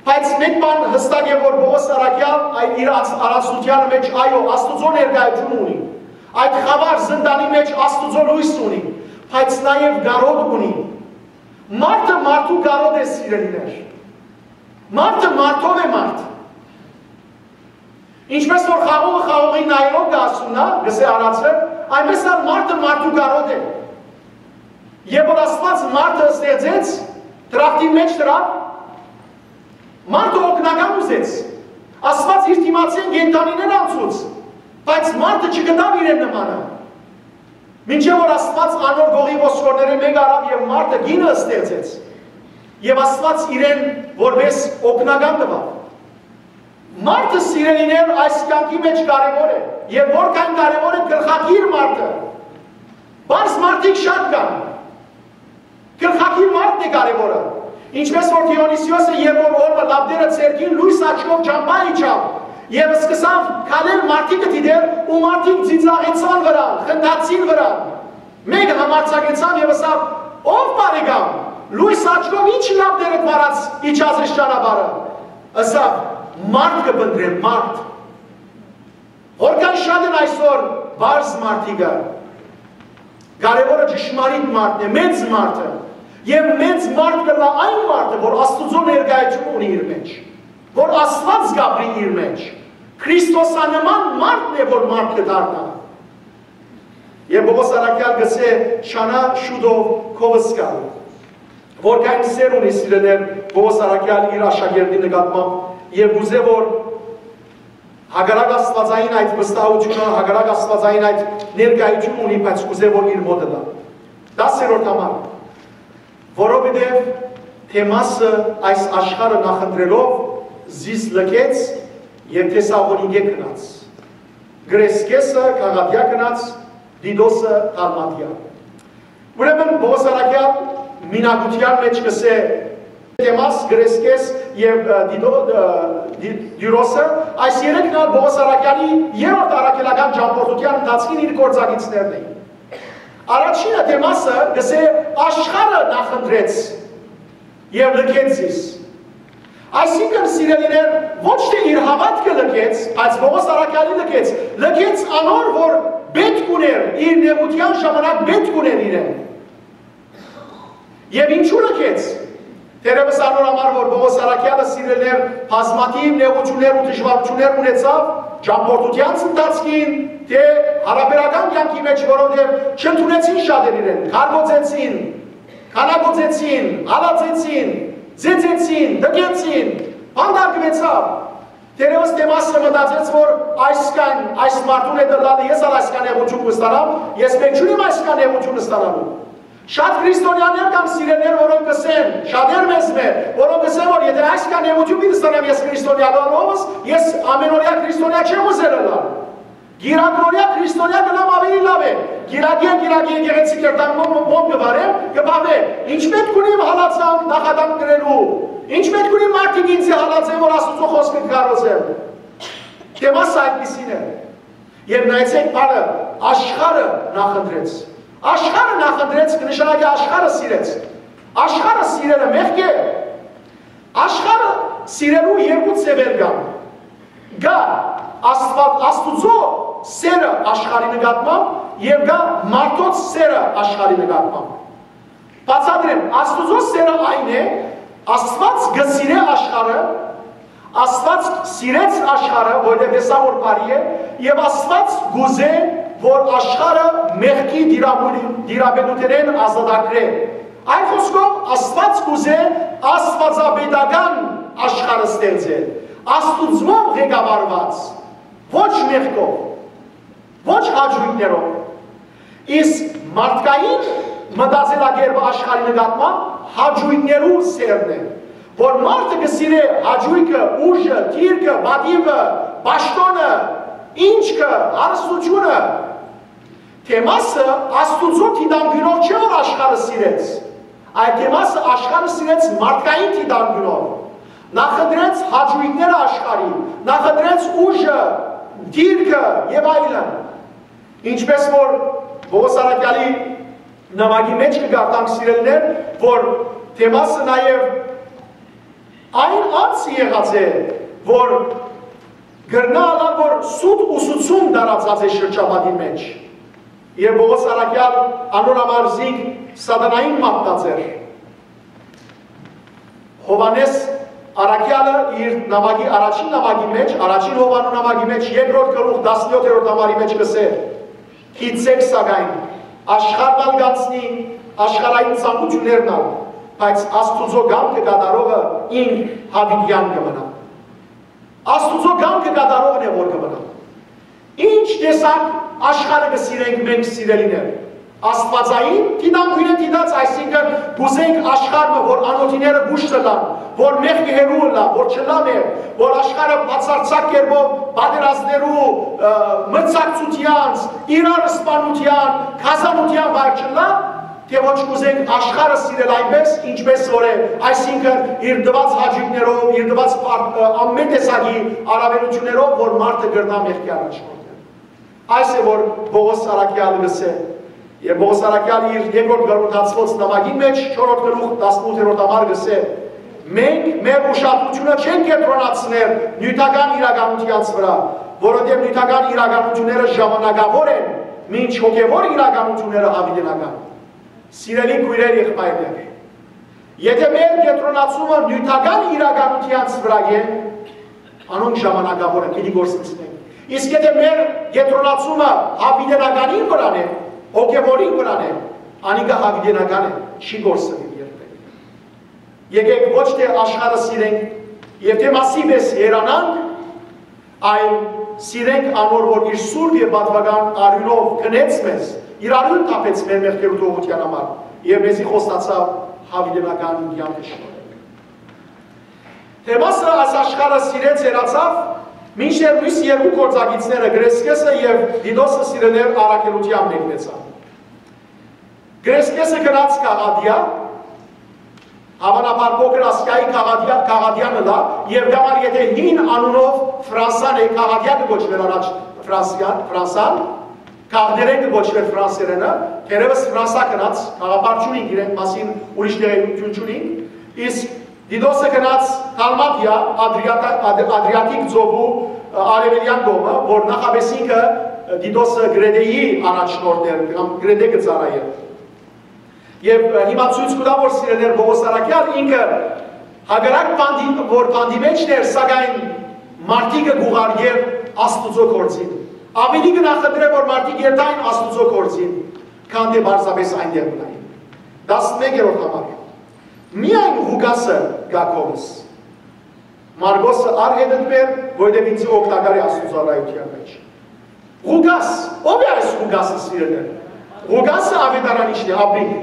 բայց մէկ բան յստակ է, որ Պողոս Առաքեալ այդ իր անց-, առանցնութեանը մէջ, այո, Աստուծոյ ներկայութիւն ունի։ Այդ խաւար զնդանի մէջ Աստուծոյ լոյս ունի, բայց նաեւ կարօտ ունի։ Մարդը մարդու կարօտ է, սիրելիներ։ Մարդը մարդով է մարդ։ Ինչպես որ խաղողը խաղողին նայելով կը հասուննայ, կ'ըսէ արածը, այնպես ալ մարդը մարդու կարօտ է։ Եւ որ Աստուած մարդը ստեղծեց, դրախտին մէջ դրաւ, մարդը օգնական ուզեց։ Աստուած իր դիմացին կենդանիներ անցուց, բայց մարդը չգտաւ իրեն նմանը։ Մինչեւ որ Աստուած անոր գողի ոսկորներէն մէկ առաւ եւ մարդը կինը ստեղծեց, եւ Աստուած իրեն որպես օգնական տուաւ։ Մարդը, սիրելիներ, այս կեանքի մէջ կարեւոր է, եւ որքան կարեւոր է գլխակիր մարդը։ Պարզ մարդիկ շատ կան։ Գլխակիր մարդն է կարեւորը։ Ինչպես որ Դիոնիսիոսը, երբ որ օրը լապտերը ձեռքին, լոյս աչքով ճամբայ իջաւ, եւ սկսաւ քալել մարդիկը դիտել, ու մարդիկ ծիծաղեցան վրան, խնդացին վրան։ Մէկը համարձակեցաւ եւ ըսաւ. «Ով բարեկամ, լոյս աչքով ի՞նչ լապտերդ վարած իջած ես ճանապարհը»։ Ըսաւ. «Մարդ կը փնտռեմ, մարդ»։ Որքան շատ են այսօր պարզ մարդիկը։ Կարեւորը ճշմարիտ մարդն է, մեծ մարդը։ Եւ մեծ մարդ կ'ըլլայ այն մարդը, որ Աստուծոյ ներկայութիւնը ունի իր մէջ, որ Աստուած կ'ապրի իր մէջ։ Քրիստոսանման մարդն է, որ մարդ կը դառնայ։ Եւ Պողոս Առաքեալ կ'ըսէ. «Չանայ շուտով քովս գալ»։ Որքան սէր ունի, սիրելիներ, Պողոս Առաքեալ իր աշակերտի նկատմամբ, եւ կ'ուզէ որ հակառակ Աստուածային այդ վստահութիւնը, հակառակ Աստուածային այդ ներկայութիւնը ունի, բայց կ'ուզէ որ իր մօտը տայ։ Տասերորդ համար. «Որովհետեւ Դեմասը այս աշխարհը նախընտրելով զիս լքեց եւ Թեսաղոնիկէ գնաց, Կրեսկէսը Գաղատիա գնաց, Տիտոսը Դալմատիա»։ Ուրեմն Պողոս Առաքեալ մինակութեան մէջ կ'ըսէ Դեմաս, Կրեսկէս եւ, ը, Տիտո-, ը, Տի-, Տիրոսը, այս երեքն ալ Պողոս Առաքեալի երրորդ առաքելական ճամբորդութեան ընթացքին իր գործակիցներն էին։ Առաջինը Դեմասը կ'ըսէ. «Աշխարհը նախընտրեց եւ լքեց զիս»։ Այսինքն, սիրելիներ, ոչ թէ իր հաւատքը լքեց, բայց Պողոս Առաքեալի լքեց, լքեց անոր, որ պէտք ուներ, իր նեղութեան ժամանակ պէտք ուներ իրեն։ Եւ ինչու լքեց։ Թերեւս անոր համար, որ Պողոս Առաքեալը, սիրելիներ, բազմաթիւ նեղութիւններ ու դժուարութիւններ ունեցաւ ճամբորդութեան ընթացքին, թէ յարաբերական կեանքի մէջ, որովհետեւ չընդունեցին շատեր իրեն, քարկոծեցին, քանակոծեցին, հալածեցին, ծեծեցին, դկեցին, բանտարկուեցաւ։ Թերեւս Դեմասը մտածեց, որ այսքան, այս մարդուն հետ ըլլալը ես ալ այսքան նեղութիւն կը ստանամ, ես մէկ չունեմ այսքան նեղութիւն ստանալու։ Շատ քրիստոնեաներ կան, սիրելիներ, որոնք կ'ըսեն, շատեր մեզմէ, որոնք կ'ըսեն, որ եթէ այսքան նեղութիւն պիտի ստանամ ես քրիստոնեալով, ես ամենօրեայ քրիստոնեայ չեմ ուզեր ըլլալ։ Կիրակնօրեայ քրիստոնեայ կ'ըլլամ, աւելի լաւ է։ Կիրակի, կիրակի եկեղեցի կ'երթամ, մոմ, մոմ կը վառեմ, կը բաւեմ։ Ի՞նչ պէտք ունի իմ հալածանք, նախատանք կրելու։ Ի՞նչ պէտք ունի մարդիկ ինձի հալածեն, որ Աստուծոյ խօսքը կը քարոզեմ։ Դեմասը այդպիսին է։ Եւ նայեցէք բառը, աշխարհը նախընտրեց։ Աշխարհը նախընտրեց կը նշանակի աշխարհը սիրեց։ Աշխարհը սիրելը մեղք է։ Աշխարհը սիրելու երկու ձեւեր կան։ Կա Աստուած, Աստուծոյ սերը աշխարհի նկատմամբ եւ կա մարդոց սերը աշխարհի նկատմամբ։ Բացատրեմ, Աստուծոյ սերը այն է, Աստուած կը սիրէ աշխարհը, Աստուած սիրեց աշխարհը, որովհետեւ տեսաւ որ բարի է, եւ Աստուած կ'ուզէ, որ աշխարհը մեղքի տիրապետութենէն ազատագրէ։ Այլ խօսքով, Աստուած կ'ուզէ աստուածապետական աշխարհը ստեղծել, Աստուծմով ղեկավարուած, ոչ մեղքով, ոչ հաճոյքներով։ Իսկ մարդկային մտածելակերպը աշխարհի նկատմամբ հաճոյքներու սերն է, որ մարդը կը սիրէ հաճոյքը, ուժը, դիրքը, պատիւը, պաշտօնը, ինչքը, հարստությունը։ Դեմասը Աստուծոյ դիտանկիւնով չէ, որ աշխարհը սիրեց, այլ Դեմասը աշխարհը սիրեց մարդկային դիտանկիւնով։ Նախընտրեց հաճոյքները աշխարհի, նախընտրեց ուժը, դիրքը եւ այլն։ Ինչպես որ Պողոս Առաքեալի Նամակի մէջ կը կարդանք, սիրելիներ, որ Թեմասը նաեւ այն անձը եղած է, որ կրնայ ըլլալ, որ սուտ ուսուցում տարածած է շրջապատին մէջ։ Եւ Պողոս առաքեալ անոր համար զինք սատանային մատնած էր։ Յովհաննէս առաքեալը իր նամակի, առաջին նամակի մէջ, առաջին Յովհաննու նամակի մէջ, երկրորդ գլուխ, տասնեօթերորդ համարի մէջ կ'ըսէ. «Գիտցէք սակայն, աշխարհն ալ կ'անցնի, աշխարհային ցանկութիւններն ալ, բայց Աստուծոյ կամքը կատարողը ինք յաւիտեան կը մնայ»։ Աստուծոյ կամքը կատարողն է որ կը մնայ։ Ինչ տեսակ աշխարհը կը սիրենք մենք, սիրելիներ։ Աստուածային դիտանկիւնը դիտած, այսինքն՝ կ'ուզենք աշխարհը, որ անօթիները կուշտ ըլլան, որ մեղքը հեռու ըլլայ, որ չըլլայ մեղք, որ աշխարհը բացարձակ կերպով պատերազմներու, ը, մրցակցութեանց, իրար սպանութեան, գազանութեան վայր չըլլայ, թէ ոչ կ'ուզենք աշխարհը սիրել այնպէս, ինչպէս որ է, այսինքն՝ իր տուած հաճոյքներով, իր տուած փառ-, ը, ամէն տեսակի առաւելութիւններով, որ մարդը կրնայ մեղքի առաջնորդել։ Այս է որ Պողոս առաքեալը կ'ըսէ, եւ Պողոս առաքեալը իր երկրորդ Կորինթացիներուն նամակին մէջ, չորրորդ գլուխ, տասնութերորդ համար կ'ըսէ. «Մենք մեր ուշադրութիւնը չենք կեդրոնացներ նիւթական իրականութեանց վրայ, որովհետեւ նիւթական իրականութիւնները ժամանակաւոր են, մինչ հոգեւոր իրականութիւնները յաւիտենական»։ Սիրելի քոյրեր, եղբայրներ, եթէ մեր կեդրոնացումը նիւթական իրականութեանց վրայ է, անոնք ժամանակաւոր են, պիտի կորսնցնեն։ Իսկ եթէ մեր կեդրոնացումը յաւիտենականին վրան է, հոգեւորին վրան է, անիկա յաւիտենական է, չի կորսնիլ երբեք։ Եկեք ոչ թէ աշխարհը սիրենք եւ թէ Թեմասի պէս հեռանանք, այլ սիրենք անոր, որ իր սուրբ եւ պատուական արիւնով գնեց մեզ, իր արիւնը թափեց մեր մեղքերու թողութեան համար եւ մեզի խոստացաւ յաւիտենական կեանքը շնորհել։ Թեմասը այս աշխարհը սիրեց, հեռացաւ, մինչդեռ միւս երկու գործակիցները՝ Կրեսկեսը եւ Տիտոսը, սիրելիներ, առաքելութեան մեկնեցան։ Կրեսկեսը գնաց Կաղատիա, հաւանաբար Փոքր Ասիայի Կաղատիա, Կաղատիան ըլլայ, եւ կամար եթէ հին անունով Ֆրանսան է, Կաղատիա կը կոչուէր առաջ Ֆրանսիան, Ֆրանսան, Կաղներեն կը կոչուէր Ֆրանսերէնը, թերեւս Ֆրանսա գնաց, գաղափար չունինք իրեն մասին, ուրիշ տեղեկութիւն չունինք, իսկ Տիտոսը գնաց Դալմատիա, Ադրիատա-, Ադր-, Ադրիատիկ ծովու, ը, արեւելեան կողմը, որ նախապէս ինքը, ը, Տիտոսը Կրետէի առաջնորդն էր, կամ Կրետէ կը ծառայէր։ Եւ, ը, հիմա ցոյց կու տայ, որ, սիրելիներ, Պողոս առաքեալ ինքը հակառակ բանտի, որ բանտի մէջն էր, սակայն մարդիկը կ'ուղարկէր Աստուծոյ գործին։ Ավելի կը նախընտրէր, որ մարդիկ երթային Աստուծոյ գործին, քան թէ պարզապէս այնտեղ մնային։ Տասնմեկերորդ համար։ Միայն Ղուկասը կայ քովս։ Մարկոսը առ հետդ բեր, որովհետեւ ինձ օգտակար է Աստուծոյ ծառայութեան մէջ։ Ղուկաս, ո՞վ է այս Ղուկասը, սիրելիներ։ Ղուկասը Աւետարանիչն է, ապրինք։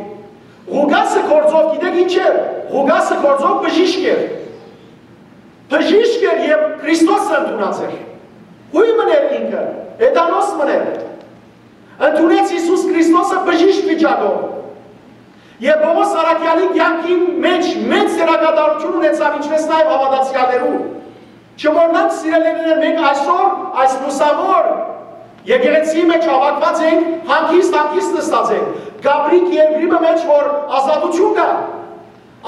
Ղուկասը գործով գիտեք ինչ էր։ Ղուկասը գործով բժիշկ էր։ Բժիշկ էր եւ Քրիստոսը ընդունած էր։ Ո՞ւյ մըն էր ինքը, Էտանոս մըն էր։ Ընդունեց Յիսուս Քրիստոսը բժիշկ վիճակով։ Եւ Պողոս առաքեալի կեանքին մէջ մեծ դերակատարութիւն ունեցաւ, ինչպէս նաեւ հաւատացեալներու։ Չմոռնանք, սիրելիներ, մենք այսօր այս լուսաւոր եկեղեցիի մէջ հաւաքուած ենք, հանգիստ, հանգիստ նստած ենք։ Կապրինք երկրի մը մէջ, որ ազատութիւն կայ։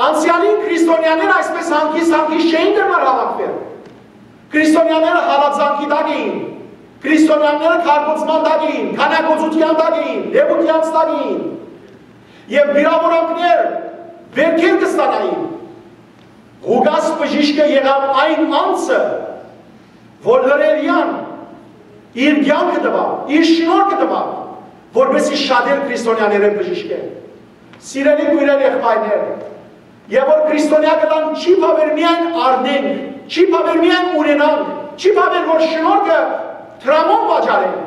Անցեալին քրիստոնեաները այսպէս հանգիստ, հանգիստ չէին կրնար հաւաքուիլ։ Քրիստոնեաները հալածանքի տակ էին, քրիստոնեաները քարկոծման տակ էին, քանակոծութեան տակ էին, լեւութեանց տակ էին։ Եւ վիրավորանքներ, վերքեր կը ստանային։ Ղուկաս բժիշկը եղաւ այն անձը, որ լրերեան իր կեանքը տուաւ, իր շնորհքը տուաւ, որպեսզի շատեր քրիստոնեաներէն բժիշկեն։ Սիրելի քոյրեր, եղբայրներ, եւ որ քրիստոնեայ կ'ըլլան, չի բաւեր միայն առնենք, չի բաւեր միայն ունենանք, չի բաւեր որ շնորհքը դրամով վաճառենք,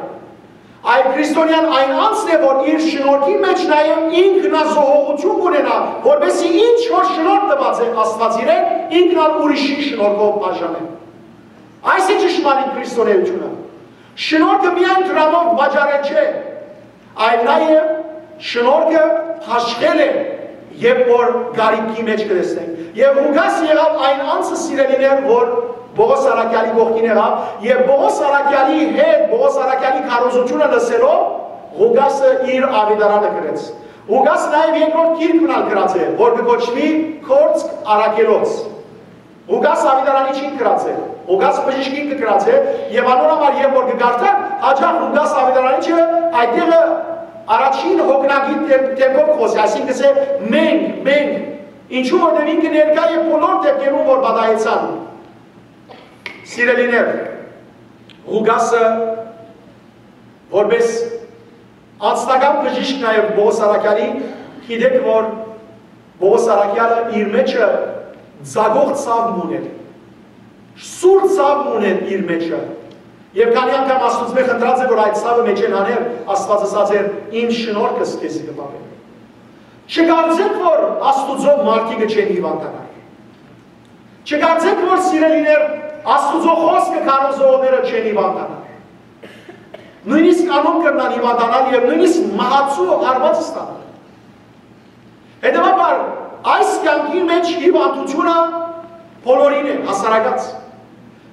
այլ քրիստոնեան այն անձն է, որ իր շնորհքի մէջ նաեւ ինքնազոհողութիւն կ'ունենայ, որպեսզի ինչ որ շնորհ տուած է Աստուած իրեն, ինքն ալ ուրիշին շնորհքով բաժանէ։ Այս է ճշմարիտ քրիստոնեայութիւնը։ Շնորհքը միայն դրամով վաճառել չէ, այլ նաեւ շնորհքը հաշղել է, երբ որ կարիքի մէջ կը տեսնենք։ Եւ Ղուկաս եղաւ այն անձը, սիրելիներ, որ Պողոս առաքեալի կողքին եղաւ, եւ Պողոս առաքեալի հետ, Պողոս առաքեալի քարոզութիւնը լսելով, Ղուկասը իր աւետարանը գրեց։ Ղուկաս նաեւ երկրորդ գիրք մնալ գրած է, որ կը կոչուի Գործք առաքելոց։ Ղուկաս Աւետարանիչին գրած է, Ղուկաս բժիշկին կը գրած է, եւ անոր համար, երբ որ կը կարդանք, հաճախ Ղուկաս Աւետարանիչը այդտեղը առաջին հոգնակի դեմ-, դեմքով կը խօսի, այսինքն կ'ըսէ, «Մենք, մենք», ինչու որտեղ ինքը ներկայ է բոլոր դեպքերուն, որ պատահեցան։ Սիրելիներ, Ղուկասը որպես անձնական բժիշկ նաեւ Պողոս առաքեալի, գիտէք որ Պողոս առաքեալը իր մեջը ծակող ցաւ մը ունէր, սուր ցաւ մը ունէր իր մեջը, եւ քանի անգամ Աստուծմէ խնդրած է որ այդ ցաւը մեջէն հաներ, Աստուած ըսած էր. «Իմ շնորհքս քեզի կը պահեմ»։ Չկարծէք որ Աստուծոյ մարդիկը չեն հիւանդանար։ Չկարծէք որ, սիրելիներ, Աստուծոյ խօսքը քարոզողները չեն հիւանդանար։ Նոյնիսկ անոնք կրնան հիւանդանալ եւ նոյնիսկ մահացու հարուած ստանալ։ Հետեւաբար, այս կեանքի մէջ հիւանդութիւնը բոլորին է հասարակած։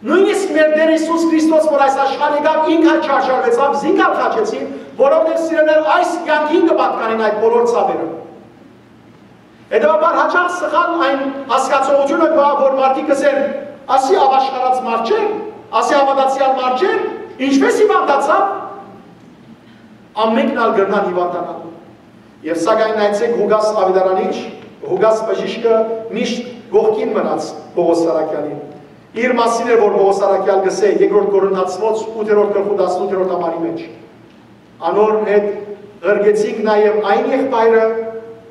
Նոյնիսկ մեր Տէր Յիսուս Քրիստոս, որ այս աշխարհ եկաւ, ինք ալ չարժարուեցաւ, զինք ալ խաչեցին, որովհետեւ, սիրելիներ, այս կեանքին կը պատկանին այդ բոլոր ցաւերը։ Հետեւաբար, հաճախ սխալ այն հասկացողութիւնը կայ, որ մարդիկ կ'ըսեն. «Ասի ա-, ապաշխարած մարդ չէ, ասի հաւատացեալ մարդ չէ, ինչպէս հիւանդացաւ»։ Ամենքն ալ կրնան հիւանդանալ։ Եւ սակայն նայեցէք Ղուկաս Աւետարանիչ, Ղուկաս բժիշկը միշտ կողքին մնաց Պողոս առաքեալին։ Իր մասին էր, որ Պողոս առաքեալ կ'ըսէ երկրորդ Կորինթացիներուն ութերորդ գլխու տասնութերորդ համարի մէջ. «Անոր հետ ղրկեցինք նաեւ այն եղբայրը»,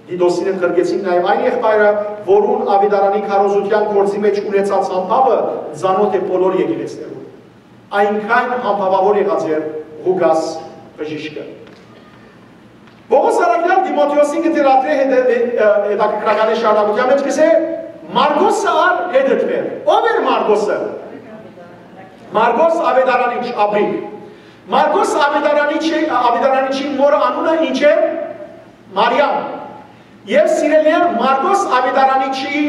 Տիտոսին հետ ղրկեցինք նաեւ այն եղբայրը, «որուն Աւետարանի քարոզութեան գործի մէջ ունեցած համբաւը ծանօթ է բոլոր եկեղեցիներուն»։ Այնքան համբաւաւոր եղած էր Ղուկաս բժիշկը։ Պողոս առաքեալ Տիմոթէոսին կը դրադրէ հետը-, հե-, ը, հետաքրքրական շարունակութեան մէջ, կ'ըսէ. «Մարկոսը ալ հետդ բեր»։ Ո՞վ էր Մարկոսը։ Մարկոս Աւետարանիչ, ապրի։ Մարկոս Աւետարանիչի, Աւետարանիչին մօրը անունը ինչ էր։ Մարիամ։ Եւ, սիրելիներ, Մարկոս Աւետարանիչի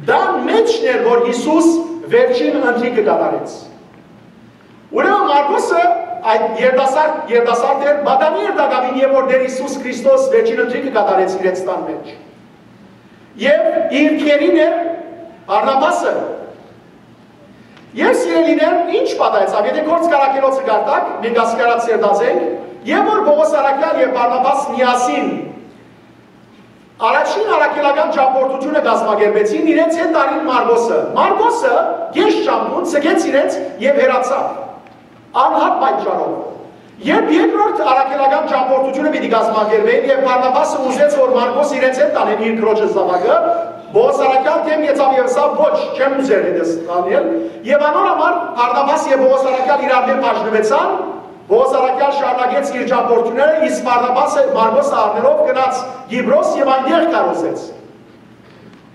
տան մէջն էր, որ Յիսուս վերջին ընթրիքը կատարեց։ Ուրեմն Մարկոսը այդ երիտասարդ, երիտասարդ էր, պատանի էր տակաւին, երբ որ Տէր Յիսուս Քրիստոս վերջին ընթրիքը կատարեց իրենց տան մէջ։ Եւ իր քերին էր Բարնաբասը։ Եւ, սիրելիներ, ինչ պատահեցաւ, եթե Գործք առաքելոցը կարդաք, մենք ասկարած երդած ենք, եւ որ Պողոս առաքեալ եւ Բարնաբաս միասին առաջին առաքելական ճամբորդութիւնը կազմակերպեցին, իրենց հետ տարին Մարկոսը։ Մարկոսը կես ճամբուն ձգեց իրենց եւ հեռացաւ անհատ պատճառով։ Երբ երկրորդ առաքելական ճամբորդութիւնը պիտի կազմակերպէին եւ Բարնաբասը ուզեց, որ Մարկոս իրենց հետ տանեն իր քրոջը զաւակը, Պողոս առաքեալ դէմ գեցաւ եւ ըսաւ. «Ոչ, չեմ ուզեր հետս տանել»։ Եւ անոր համար Բարնաբաս եւ Պողոս առաքեալ իրարմէ բաժնուեցան, Պողոս առաքեալ շարունակեց իր ճամբորդութիւնները, իսկ Բարնաբասը Մարկոսը առնելով գնաց Կիպրոս եւ այնտեղ քարոզեց։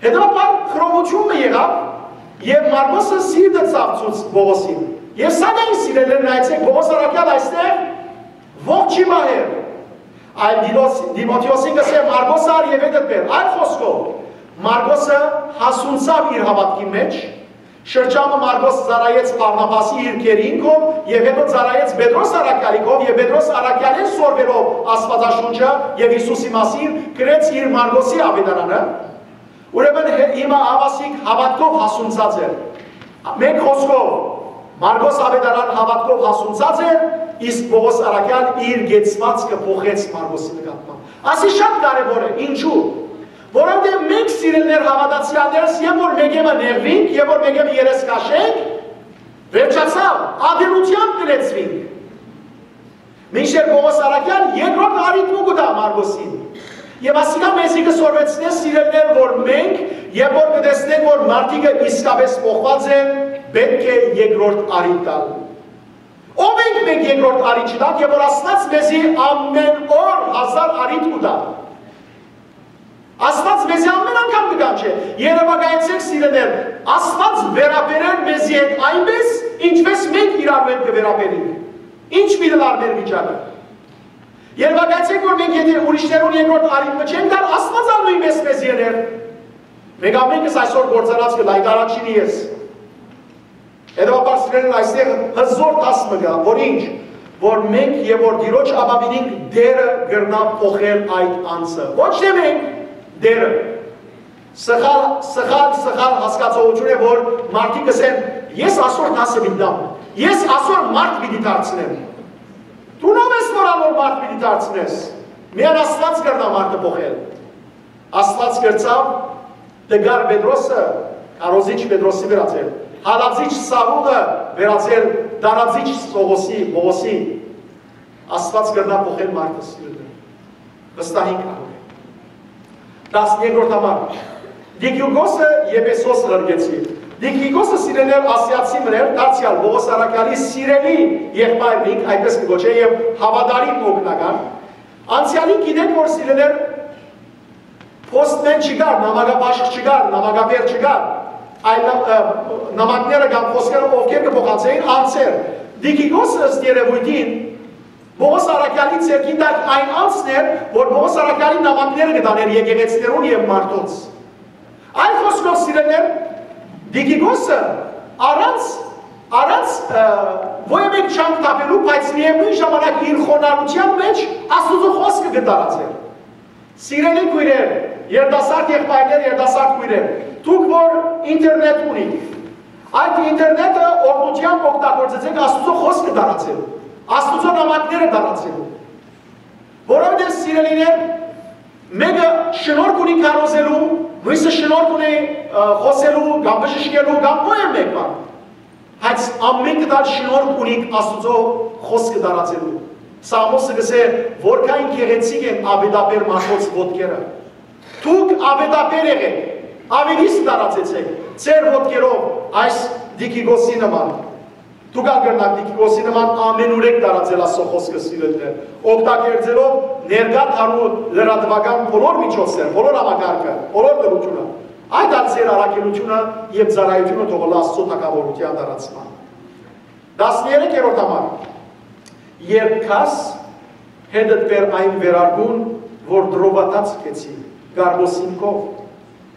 Հետեւաբար խռովութիւն մը եղաւ եւ Մարկոսը սիրտը ցաւցուց Պողոսին։ Եւ սակայն, սիրելիներ, նայեցէք, Պողոս առաքեալ այստեղ ողջ չի մահեր, այլ Տիտոս-, Տիմոթէոսին կ'ըսէ. «Մարկոսը առ եւ հետդ բեր»։ Այլ խօսքով, Մարկոսը հասունցաւ իր հաւատքի մէջ, շրջանը Մարկոս ծառայեց Բարնաբասի իր քերին կողմ եւ հետո ծառայեց Պետրոս առաքեալի կողմ եւ Պետրոս առաքեալէն սորվելով Աստուածաշունչը եւ Յիսուսի մասին գրեց իր Մարկոսի աւետարանը։ Ուրեմն հե-, հիմա Աղասիկ հաւատքով հասունցած էր։ Մէկ խօսքով, Մարկոս աւետարան հաւատքով հասունցած էր, իսկ Պողոս առաքեալ իր կեցվածքը փոխեց Մարկոսի նկատմամբ։ Ասի շատ կարեւոր է, ինչու՞։ Որովհետեւ մենք, սիրելիներ հաւատացեալներս, եւ որ մեկի մը նեղուինք, եւ որ մեկի մը երես քաշենք, վերջացաւ, ատելությամբ կը լեցուինք։ Մինչդեռ Պողոս առաքեալ երկրորդ առիթ մը կու տայ Մարկոսին։ Եւ ասիկա մեզի կը սորվեցնէ, սիրելիներ, որ մենք, երբ որ կը տեսնենք, որ մարդիկը իսկապես փոխուած են, պէտք է երկրորդ առիթ տալ։ Ո՞վ ենք մենք երկրորդ առիթ չտանք, երբ որ Աստուած մեզի ամէն օր հազար առիթ կու տայ։ Աստուած մեզի ամէն անգամ կը կանչէ։ Երեւակայեցէք, սիրելիներ, Աստուած վերաբերեր մեզի հետ այնպես, ինչպես մենք իրարու հետ կը վերաբերենք։ Ինչ պիտի լար մեր վիճակը։ Երեւակայեցէք, որ մենք եթե ուրիշներուն երկրորդ առիթ մը չենք տար, Աստուած ալ նոյնպես մեզի ըլեր։ Մենք ամենքս այսօր գործանած կը լայք առաջինի ես։ Հետեւաբար, սիրելիներ, այստեղ հզոր դաս մը կայ, որ ինչ, որ մենք եւ որ Տիրոջ ապավինինք, Տէրը կրնայ փոխել այդ անձը։ Ոչ թէ մենք, Տէրը։ Սխալ, սխալ, սխալ հասկացողութիւն է, որ մարդիկ կ'ըսեն. «Ես ասոր դասը պիտի տամ, ես ասոր մարդ պիտի դարձնեմ»։ Դուն ո՞վ ես, որ անոր մարդ պիտի դարձնես։ Միայն Աստուած կրնայ մարդը փոխել։ Աստուած կրցաւ տկար Պետրոսը քարոզիչ Պետրոսի վերածել, հալածիչ Սաւուլը վերածել տարածիչ Սողոսի, Պողոսի։ Աստուած կրնայ փոխել մարդը, սիրելիներ։ Վստահ ենք անոր։ Տասներկրորդ համար։ Տիկիկոսը Եփեսոս ղրկեցի։ Տիկիկոսը, սիրելիներ, ասիացի մըն էր, դարձեալ Պողոս առաքեալի սիրելի եղբայրն ինք, այդպես կը կոչէ, եւ հաւատարիմ օգնական։ Անցեալին գիտենք, որ, սիրելիներ, փոստմէն չկար, նամակաբաշխ չկար, նամակաբեր չկար, այլ, ը, նամակները կամ խոսքերը ովքեր կը փոխանցէին անձեր։ Տիկիկոսը, ըստ երեւոյթին, Պողոս առաքեալի ձեռքին տակ այն անձն էր, որ Պողոս առաքեալին նամակները կը տանէր եկեղեցիներուն եւ մարդոց։ Այլ խօսքով, սիրելիներ, Տիկիկոսը առանց, առանց, ը, ոյ մէկ չանք թափելու, բայց միեւնոյն ժամանակ իր խոնարհութեան մէջ Աստուծոյ խօսքը կը տարածէր։ Սիրելի քոյրեր, երիտասարդ եղբայրներ, երիտասարդ քոյրեր, դուք որ ինտերնետ ունիք, այդ ինտերնետը օրհնութեամբ օգտագործեցէք Աստուծոյ խօսքը տարածելու, Աստուծոյ նամակները տարածելու։ Որովհետեւ, սիրելիներ, մէկը շնորհք ունի քարոզելու, միւսը շնորհք ունի, ը, խօսելու կամ բժշկելու կամ ոյ մէկ բան։ Բայց ամէնքդ ալ շնորհք ունիք Աստուծոյ խօսքը տարածելու։ Սաղմոսը կ'ըսէ, որքան գեղեցիկ են աւետաբեր մարդոց ոտքերը։ Դուք աւետաբեր եղէք, աւետիսկ տարածեցէք ձեր ոտքերով այս Տիկիկոսի նման։ Դուք ալ կրնաք Տիկիկոսի նման ամենուրեք տարածել Աստուծոյ խօսքը, սիրելիներ, օգտագործելով ներկայ դարու լրատուական բոլոր միջոցներ, բոլոր համակարգը, բոլոր դրությունը, այդ ալ ձեր առաքելութիւնը եւ ծառայութիւնը թող ըլլայ Աստուծոյ թագաւորութեան տարածման։ Տասներկրորդ համար։ Երբ գաս, հետդ բեր այն վերարկուն, որ տրովատած գեցի, կարմոսին քով,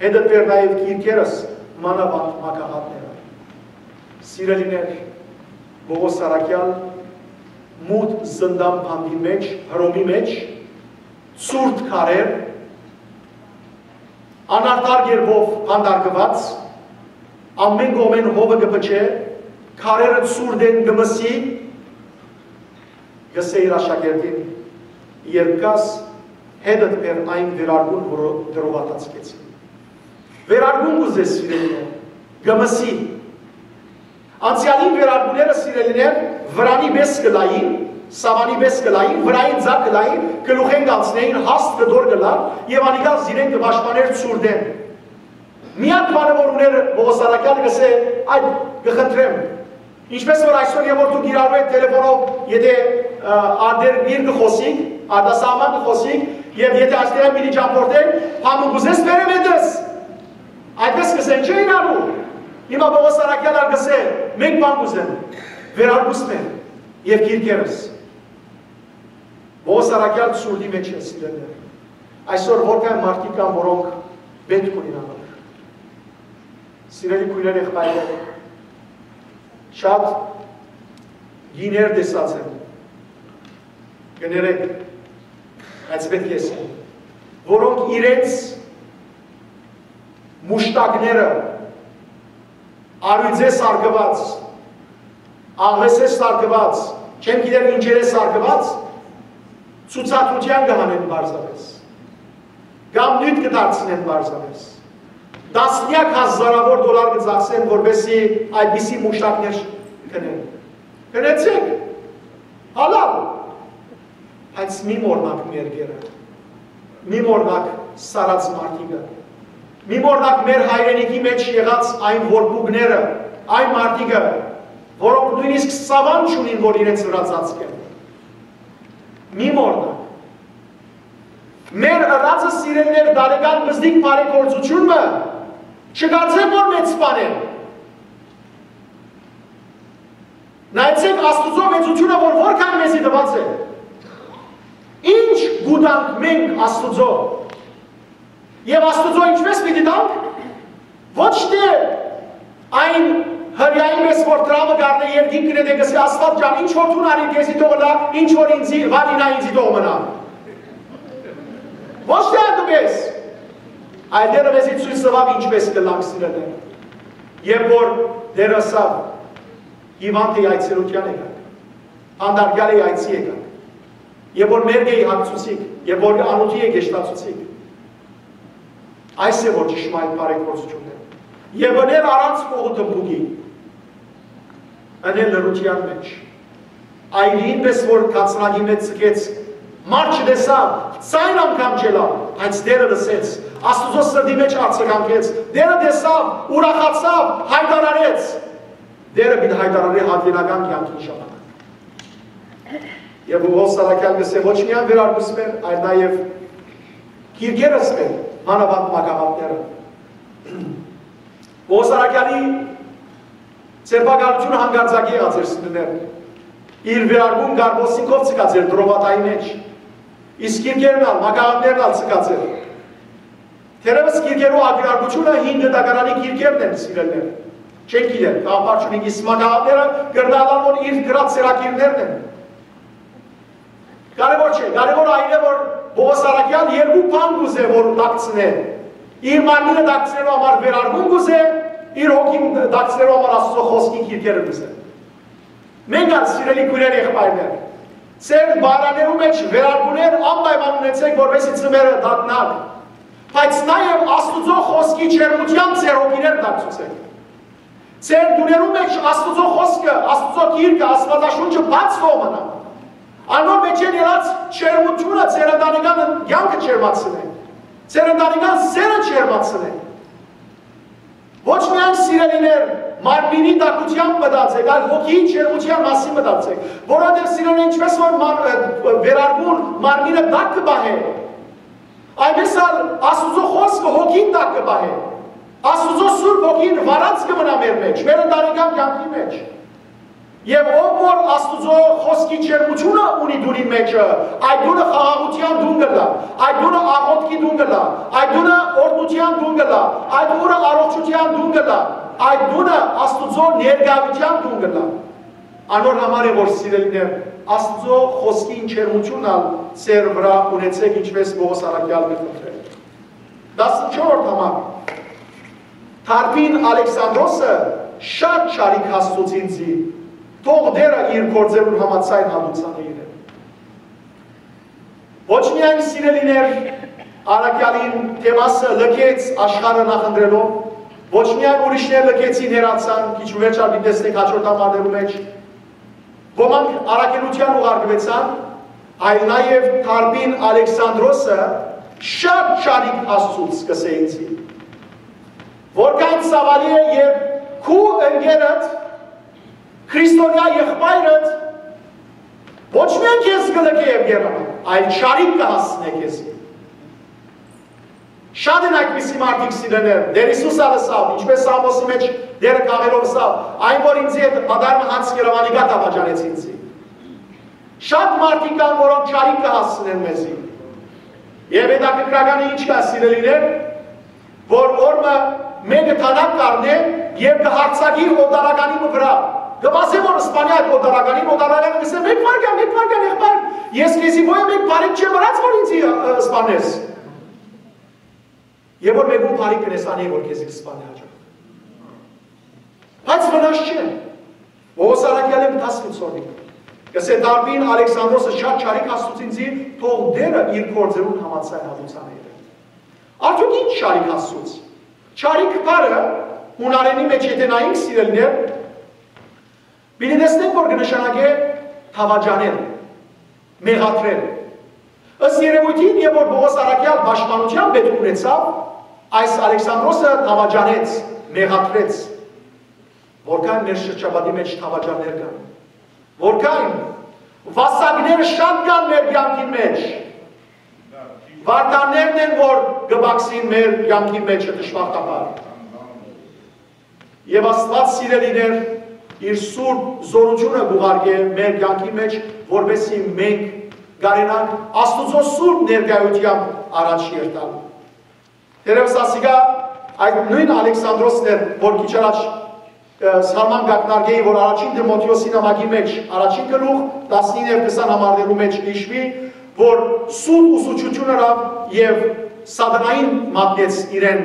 հետդ բեր նաեւ կիրքերս, մանաւանդ մագաղատները։ Սիրելիներ, Պողոս առաքեալ մութ զնդան բանտի մէջ, Հռոմի մէջ, ցուրտ քարեր, անարդար կերպով բանտարկուած, ամէն կողմէն հովը կը փչէ, քարերը ցուրտ են, կը մսի, կ'ըսէ իր աշակերտին. «Երբ գաս, հետդ բեր այն վերարկուն, որ տրովատած գեցի»։ Վերարկուն կ'ուզես, սիրելիներ, կը մսի։ Անցեալին վերարկուները, սիրելիներ, վրանի պէս կը լային, սաւանի պէս կը լային, վրային ձագ կը լային, գլուխէն կ'անցնէին, հաստ կտոր կը լար եւ անիկա զիրեն կը պաշտպանէր ցուրտէն։ Միակ բանը որ ունէր Պողոս առաքեալը, կ'ըսէ. «Այդ կը խնդրեմ»։ Ինչպես որ այսօր եւ որ դուք իրարու հետ տելեֆոնով, եթե, ը, արտերկիր կը խօսիք, արտասահման կը խօսիք, եւ եթե այստեղէն պիտի ճամփորդեք, բան մը կ'ուզես, բերեմ հետս։ Այդպես կ'ըսեն, չէ՞, իրարու։ Հիմա Պողոս առաքեալ ալ կ'ըսէ. «Մէկ բան կ'ուզեմ, վերարկուս մեն եւ կիրքերս»։ Պողոս առաքեալ ցուրտի մէջ է, սիրելիներ։ Այսօր որքան մարդիկ կան, որոնք պէտք ունին անոր։ Սիրելի քոյրեր, եղբայրներ, շատ կիներ տեսած եմ, կներեք, բայց պէտք է ասեմ, որոնք իրենց մուշտակները, առիւծե սարկուած, աղվեսե սարկուած, չեմ գիտեր ինչերէ սարկուած, ցուցադրութեան կը հանեն պարզապէս, կամ նիւթ կը դարձնեն պարզապէս, տասնեակ հազարաւոր դոլար կը ծախսեն, որպեսզի այդպիսի մուշտակներ գնեն։ Գնեցեք, հալալ, բայց մի մոռնաք մեր գերը, մի մոռնաք սառած մարդիկը, մի մոռնաք մեր հայրենիքի մէջ եղած այն որբուկները, այն մարդիկը, որոնք նոյնիսկ սաւան չունին, որ իրենց վրայ ծածկեն։ Մի մոռնաք։ Մեր ըրածը, սիրելիներ, տարեկան պզտիկ բարեգործութիւն մը, չկարծեմ որ մեծ բան է։ Նայեցեք Աստուծոյ մեծութիւնը, որ որքան մեզի տուած է։ Ինչ կու տանք մենք Աստուծոյ։ Եւ Աստուծոյ ինչպես պիտի տանք։ Ոչ թէ այն Հրեային պէս որ դրամը կ'առնէ երկինք կը նետէ, կ'ըսէ. «Աստուած ջան, ինչ որ դուն արիր, քեզի թող ըլլայ, ինչ որ ինծի վարինայ, ինծի թող մնայ»։ Ոչ թէ այդպէս։ Այլ Տէրը մեզի ցոյց տուաւ ինչպէս կ'ըլլանք, սիրելիներ։ Երբ որ Տէրը ըսաւ. «Հիւանդ էի, այցելութեան եկաք, հանդարտեալ էի, այցի եկաք, եւ որ մերկ էի, հագցուցիք, եւ որ անօթի էի, կեշտացուցիք»։ Այս է որ ճշմարիտ բարեգործությունն է։ Եւ ընել առանց կողու թմբուկի, ընել լռութեան մէջ։ Այրին պէս որ կացնակի մէջ ձգեց, մարդ չտեսաւ, ձայն անգամ չելաւ, բայց Տէրը լսեց, Աստուծոյ սրտի մէջ արձագանքեց, Տէրը տեսաւ, ուրախացաւ, յայտարարեց։ Տէրը պիտի յայտարարէ հատուենական կեանքին ժամանակ։ Եւ Պողոս առաքեալ կ'ըսէ. «Ոչ միայն վերարկուս մեր, այլ նաեւ կիրկերս մեր, մանաւանդ մագաղատները»։ Պողոս առաքեալի ձերբակալութիւնը հանկարծակի եղած էր, սիրելիներ։ Իր վերարկուն Կարպոսին քով ձգած էր Տրովադայի մէջ, իսկ կիրկերն ալ, մագաղատներն ալ ձգած էր։ Թերեւս կիրկերու ակնարկությունը հին գտակարանի կիրկերն են, սիրելիներ։ Չենք գիտեր, կապարչունի, իսկ մագաղատները կրնալան որ իր գրած ծրագիրներն են։ Կարեւոր չէ, կարեւոր այն է որ Պողոս առաքեալ երկու բան կ'ուզէ որ դակցնէ. իր մարմինը դակցնելու համար վերարկուն կ'ուզէ, իր հոգին դակցնելու համար Աստուծոյ խօսքի կիրկերը կ'ուզէ։ Մենք ալ, սիրելի քոյրեր, եղբայրներ, ձեր պարաներու մէջ վերարկուներ անպայման ունեցէք, որպեսզի ծմերը դառնան, բայց նաեւ Աստուծոյ խօսքի ջերմութեան ձեր հոգիները դակցուցէք։ Ձեր տուներու մէջ Աստուծոյ խօսքը, Աստուծոյ գիրքը, Աստուածաշունչը բաց թող մնայ։ Անոր մէջէն ելած ջերմութիւնը ձեր ընտանեկան կեանքը ջերմացնէ, ձեր ընտանեկան սերը ջերմացնէ։ Ոչ միայն, սիրելիներ, մարմինի տաքութեան մտածեք, այլ հոգիի ջերմութեան մասին մտածեք, որովհետեւ, սիրելիներ, ինչպէս որ մար-, ը, վերարկուն մարմինը տաք կը պահէ, այնպէս ալ Աստուծոյ խօսքը հոգին տաք կը պահէ։ Աստուծոյ Սուրբ Հոգին վառած կը մնայ մեր մէջ, մեր ընտանեկան կեանքի մէջ։ Եւ ով որ Աստուծոյ խօսքի ջերմութիւնը ունի տունի մէջը, այդ տունը խաղաղութեան տուն կ'ըլլայ, այդ տունը աղօթքի տուն կ'ըլլայ, այդ տունը օրհնութեան տուն կ'ըլլայ, այդ տունը առողջութեան տուն կ'ըլլայ, այդ տունը Աստուծոյ ներկայութեան տուն կ'ըլլայ։ Անոր համար է որ, սիրելիներ, Աստուծոյ խօսքին ջերմութիւնն ալ ձեր վրայ ունեցէք, ինչպէս Պողոս առաքեալ կը խնդրէ։ Տասնչորրորդ համար։ Դարբին Ալեքսանդրոսը շատ շարիկ հասցուց ինձի, թող Տէրը իր գործերուն համաձայն հատուցանէ իրեն։ Ոչ միայն, սիրելիներ, առաքեալին թեմասը լքեց աշխարհը նախընտրելով, ոչ միայն ուրիշներ լքեցին, հեռացան, քիչ ու վերջ ալ պիտի տեսնենք հաջորդ համարներու մէջ, ոմանք առաքելութեան ուղարկուեցան, այլ նաեւ Դարբին Ալեքսանդրոսը շատ շարիկ հասցուց, կ'ըսէ ինձի, որքան ցաւալի է, երբ քու ընկերդ, քրիստոնեայ եղբայրդ, ոչ միայն քեզ կը լքէ եւ կ'երանայ, այլ շարիկ կը հասցնէ քեզի։ Շատ են այդպիսի մարդիկ, սիրելիներ, Տէր Յիսուս ալ ըսաւ, ինչպէս Սաղմոսի մէջ Տէրը քաղելով ըսաւ. «Այն որ ինձի հետ մտարմը յանձ կերաւ, անիկա դավաճանեց ինձի»։ Շատ մարդիկ կան, որոնք շարիկ կը հասցնեն մեզի։ Եւ հետաքրքրականը ինչ կայ, սիրելիներ, որ օր մը մէկը դանակ կ'առնէ եւ կը յարձակի օտարականի մը վրայ։ Կը վազէ որ սպանի այդ օտարականին, օտարականը կ'ըսէ. «Մէկ վայրկեան, մէկ վայրկեան, եղբայր, ես քեզի ոյ մէկ բարիք չեմ ըրած որ ինձի, ը, սպանես»։ Եւ որ մէկուն բարիք կ'ընես, անի որ քեզի կ'սպանէ հաճախ։ Բայց վնաս չէ։ Պողոս առաքեալը մտածք ուսորնի, կ'ըսէ. «Դարբին Ալեքսանդրոսը շատ շարիկ հասցուց ինձի, թող Տէրը իր գործերուն համաձայն հատուցանէ իրեն»։ Արդյոք ինչ շարիկ հասցուց։ Շարիկ բառը հունարենի մէջ եթե նայենք, սիրելիներ, պիտի տեսնենք որ կը նշանակէ դավաճանել, մեղադրել։ Ըստ երևոյթին, երբ որ Պողոս առաքեալ պաշտպանութեան պետք ունեցաւ, այս Ալեքսանդրոսը դավաճանեց, մեղադրեց։ Որքան մեր շրջապատի մէջ դավաճաններ կան, որքան վասակներ շատ կան մեր կեանքին մէջ, վարդաններն են որ կը բացին մեր կեանքին մէջ, դժբախտաբար։ Եւ Աստուած, սիրելիներ, իր սուրբ զօրութիւնը կ'ուղարկէ մեր կեանքի մէջ, որպեսզի մենք կարենանք Աստուծոյ սուրբ ներկայութեամբ առաջ երթալ։ Թերեւս ասիկա այդ նոյն Ալեքսանդրոսն էր, որ քիչ առաջ Սարման կակնարկեի, որ առաջին Տիմոթէոսի նամակի մեջ, առաջին գլուխ, տասնինը եւ քսան համարներու մեջ յիշուի, որ սուտ ուսուցչութիւն ըրաւ եւ սատանային մատնեց իրեն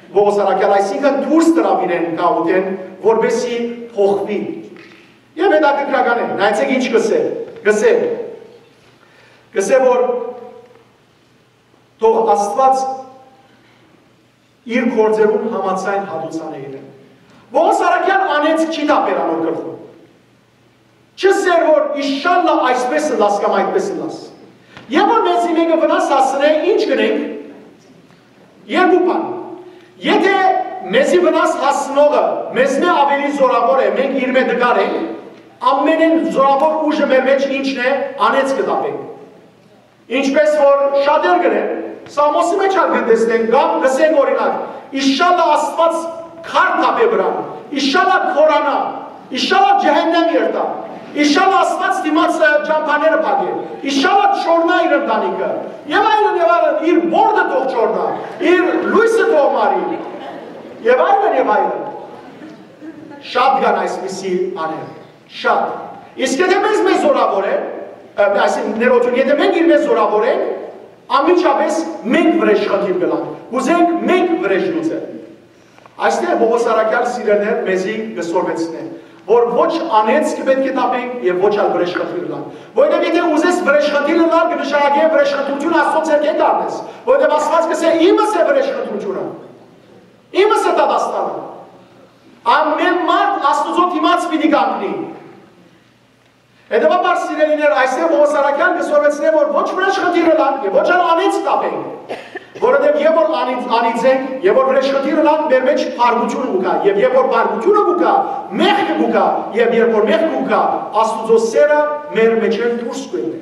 Պողոս առաքյալ, այսինքն դուրս դրաւ իրեն գաղութէն, որպեսզի փոխուի։ Եւ հետաքրքրական է, նայեցեք ինչ կսէ, կսէ, կսէ, որ թող Աստուած իր գործերուն համաձայն հատուցանէ իրեն։ Պողոս առաքյալ անեց չի թափեր անոր գլխուն։ Չսեր որ իշալլա այսպես ըլլաս կամ այդպես ըլլաս։ Եւ որ մեզի մեկը վնաս հասցնէ, ինչ կնենք։ Երկու բան։ Եթե մեզի վնաս հասցնողը մեզմէ ավելի զորավոր է, մենք իրմէ տկար ենք, ամենէն զորավոր ուժը մեր մեջ ինչն է, անեց կը թափենք։ Ինչպես որ շատեր կ'ընեն, Սամոսի մեջ ալ կը տեսնեն, կամ կ'ըսեն օրինակ, իշալլա Աստուած քար թափէ վրան, իշալլա քորանայ, իշալլա ջեհեննեմ երթայ, իշալլա Աստուած դիմաց ճամբաները փակէ, իշալլա չոռնայ իր ընտանիքը, եւ այլն, եւ այլն, իր բորդը թող չոռնայ, իր լոյսը թող մարի, եւ այլն, եւ այլն։ Շատ կան այսպիսի աներ, շատ։ Իսկ եթե մեզմէ զորավոր է, ը, այսինքն ներողություն, եթե մենք իրմէ զորավոր ենք, անմիջապէս մենք վրեժ խնդիր կ'ըլանք, կ'ուզենք մենք վրեժ լուծել։ Այստեղ Պողոս առաքյալ, սիրելիներ, մեզի կը սորվեցնէ, որ ոչ անեց կը պէտք է թափենք եւ ոչ ալ վրեժ խնդիր ըլանք։ Որովհետեւ եթե ուզես վրեժ խնդիր ըլալ, կը նշանակէ վրեժ խնդրութիւն Աստուծոյ ձեռքէն կ'առնես, որովհետեւ Աստուած կ'ըսէ. «Իմս է վրեժ խնդրութիւնը, իմս է դատաստանը»։ Ամէն մարդ Աստուծոյ դիմաց պիտի կանգնի։ Հետեւաբար, սիրելիներ, այստեղ Պողոս առաքյալ կը սորվեցնէ, որ ոչ վրեժ խնդիր ըլանք եւ ոչ ալ անից թափենք, որովհետեւ երբ որ անից, անից ենք, երբ որ վրեժ խնդիր ըլանք, մեր մեջ փառկութիւնը կու գայ, եւ երբ որ փառկութիւնը կու գայ, մեղքը կու գայ, եւ երբ որ մեղքը կու գայ, Աստուծոյ սերը մեր մեջէն դուրս կու ելլէ։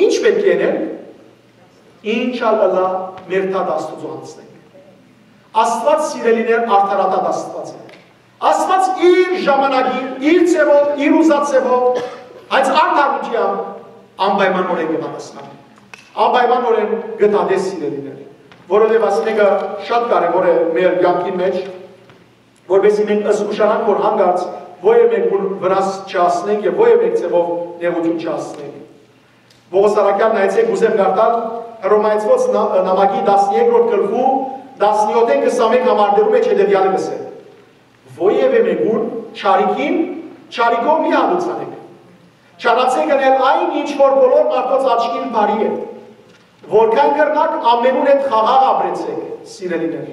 Ինչ պէտք է ընել, ինչ ալ ըլլայ, մեր դատը Աստուծոյ յանձնենք։ Աստուած, սիրելիներ, արդարադատ Աստուած է։ Աստուած իր ժամանակին, իր ձեւով, իր ուզած ձեւով, հենց արդարութեամբ անպայմանօրէն կը պատասխանի։ Անպայմանօրէն կը դատէ, սիրելիներ, որովհետեւ այս մէկը շատ կարեւոր է մեր կեանքին մեջ, որպեսզի մենք զգուշանանք, որ հանկարծ ոեւէ մեկուն վնաս չհասցնենք եւ ոեւէ մեկ ձեւով նեղութիւն չհասցնենք։ Պողոս առաքյալ, նայեցեք, կ'ուզեմ կարդալ Հռոմայեցիներուն ն-, նամակի տասներկրորդ գլխու տասնեօթ քսանմէկ համարներու մեջ հետեւեալը կ'ըսէ. «Ոեւէ մեկուն չարիքին չարիքով մի հատուցանէք։ Չարացէք ընել այն, ինչ որ բոլոր մարդոց աչքին բարի է։ Որքան կրնաք, ամենուն հետ խաղաղ ապրեցէք, սիրելիներ։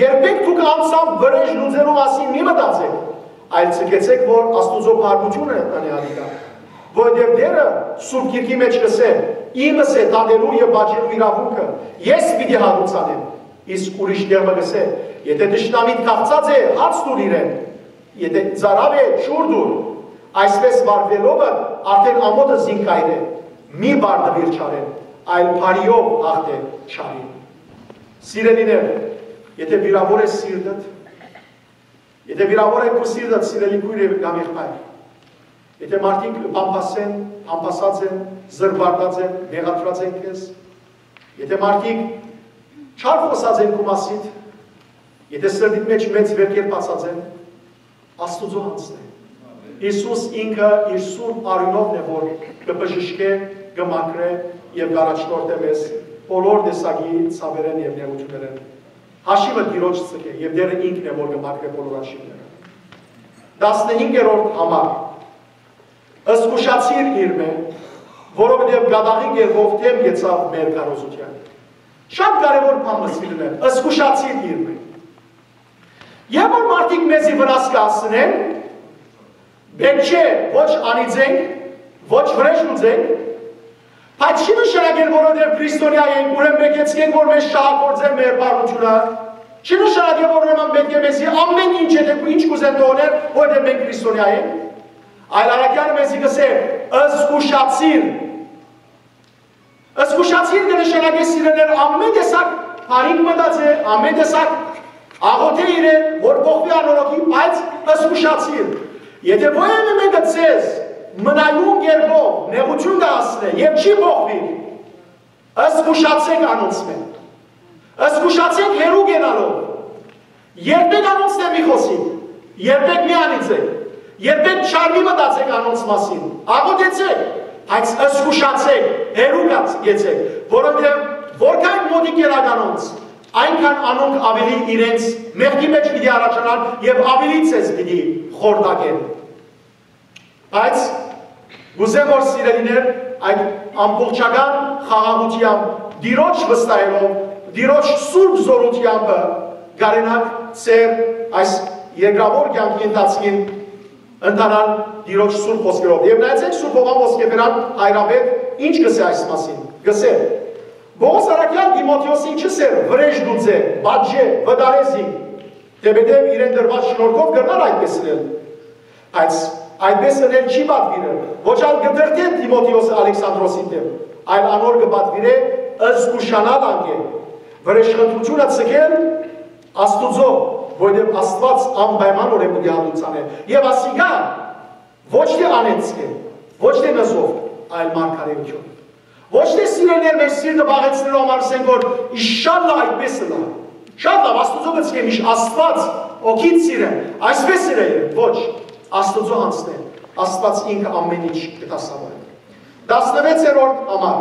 Երբեք դուք անձամբ վրեժ լուծելու մասին մի մտածեք, այլ ձգեցէք, որ Աստուծոյ փառքութիւնը ընէ ատիկա։ Որովհետեւ Տէրը Սուրբ Գիրքի մեջ կ'ըսէ. "Իմս է դատելու եւ պատժելու իրաւունքը, ես պիտի հատուցանեմ"։ Իսկ ուրիշ տեղ մը կ'ըսէ. "Եթե թշնամիդ քաղցած է, հաց տուր իրեն, եթե ծարաւ է, ջուր տուր, այսպես վարուելով արդեն ամօթը զինք կ'այրէ, մի պարտուիր չարէն, այլ բարիով հաղթէ չարին"։ Սիրելիներ, եթե վիրաւոր է սիրտդ, եթե վիրաւոր է քու սիրտդ, սիրելի քույր եւ կամ եղբայր, եթե մարդիկ բամբասեն, բամբասած են, զրպարտած են, մեղադրած են քեզ, եթե մարդիկ չար խօսած են քու մասիդ, եթե սրտիդ մեջ մեծ վերքեր բացած են, Աստուծոյ յանձնէ։ Յիսուս ինքը իր սուրբ արիւնովն է, որ կը բժշկէ, կը մաքրէ եւ կ'առաջնորդէ մեզ բոլոր տեսակի ցաւերէն եւ նեղութիւններէն։ Հաշիւը Տիրոջ ձգէ, եւ Տէրը ինքն է, որ կը մաքրէ բոլոր հաշիւները։ Տասնհինգերորդ համար. «Զգուշացիր իրմէ, որովհետեւ կատաղի կերպով դէմ գեցաւ մեր քարոզութեան»։ Շատ կարեւոր բան մը, սիրելիներ, զգուշացիր իրմէ։ Երբ որ մարդիկ մեզի վնաս կ'հասցնեն, պէտք չէ ոչ անիծենք, ոչ վրեժ լուծենք, բայց չի նշանակել, որովհետեւ քրիստոնեայ ենք, ուրեմն պէտք է ցկենք, որ մեզ շահագործեն մեր բարությունը։ Չի նշանակել, որ ուրեմն պէտք է մեզի ամեն ինչ, եթե քու ինչ կ'ուզեն թողնել, որովհետեւ մենք քրիստոնեայ ենք։ Այլ առաքյալը մեզի կ'ըսէ. «Զգուշացիր»։ Զգուշացիր կը նշանակէ, սիրելիներ, ամեն տեսակ բարիք մտածել, ամեն տեսակ աղոթել իրեն, որ փոխուի անոր հոգին, բայց զգուշացիր։ Եթե որևէ մեկը ձեզ մնայուն կերպով նեղութիւն կը հասցնէ եւ չի փոխուի, զգուշացէք անոնցմէ։ Զգուշացէք հեռու գնալով։ Երբեք անոնցմէ մի խոսիք։ Երբեք մի անիծէք, երբեք չար մի մտածեք անոնց մասին, աղօթեցէք, բայց զգուշացէք, հեռու գացեք, որովհետեւ որքան մօտիկ եղաք անոնց, այնքան անոնք աւելի իրենց մեղքի մէջ պիտի առաջանան եւ աւելի ձեզ պիտի խորտակեն։ Բայց կ'ուզեմ որ, սիրելիներ, այդ ամբողջական խաղաղութեամբ, Տիրոջ վստահելով, Տիրոջ սուրբ զօրութեամբը կարենաք ձեր այս երկրաւոր կեանքի ընթացքին ընթանալ Տիրոջ սուրբ խօսքերով։ Եւ նայեցէք Սուրբ Յովհան Ոսկեֆերան հայրապետ ինչ կ'ըսէ այս մասին։ Կ'ըսէ. «Պողոս առաքեալ Տիմոթէոսին չ'ըսէր. "Վրէժ դուծէ, պատժէ, վտարէ զինք", թէպետեւ իրեն տրուած շնորհքով կրնար այդպես ըրել։ Բայց այդպես ըրել չի պատուիրեր, ոչ ալ կը դրդէ Տիմոթէոսը Ալեքսանդրոսին դէմ, այլ անոր կը պատուիրէ զգուշանալ անկէ, վրէժխնդրութիւնը ձգել Աստուծոյ, որովհետեւ Աստուած անպայման օրէն պիտի հատուցանէ։ Եւ ասիկա ոչ թէ անեծք է, ոչ թէ նզովք, այլ մարգարէութիւն։ Ոչ թէ սիրելիներ մեր սիրտը բաղեցնելու համար ասենք որ իշալլա այդպես ըլլայ։ Շատ լաւ, Աստուծոյ գցկեմ, իշ Աստուած օգիտ սիրեմ, այսպես սիրեմ, ոչ, Աստուծոյ յանցնէ, Աստուած ինքը ամեն ինչ կը դասաւորի։ Տասնվեցերորդ համար։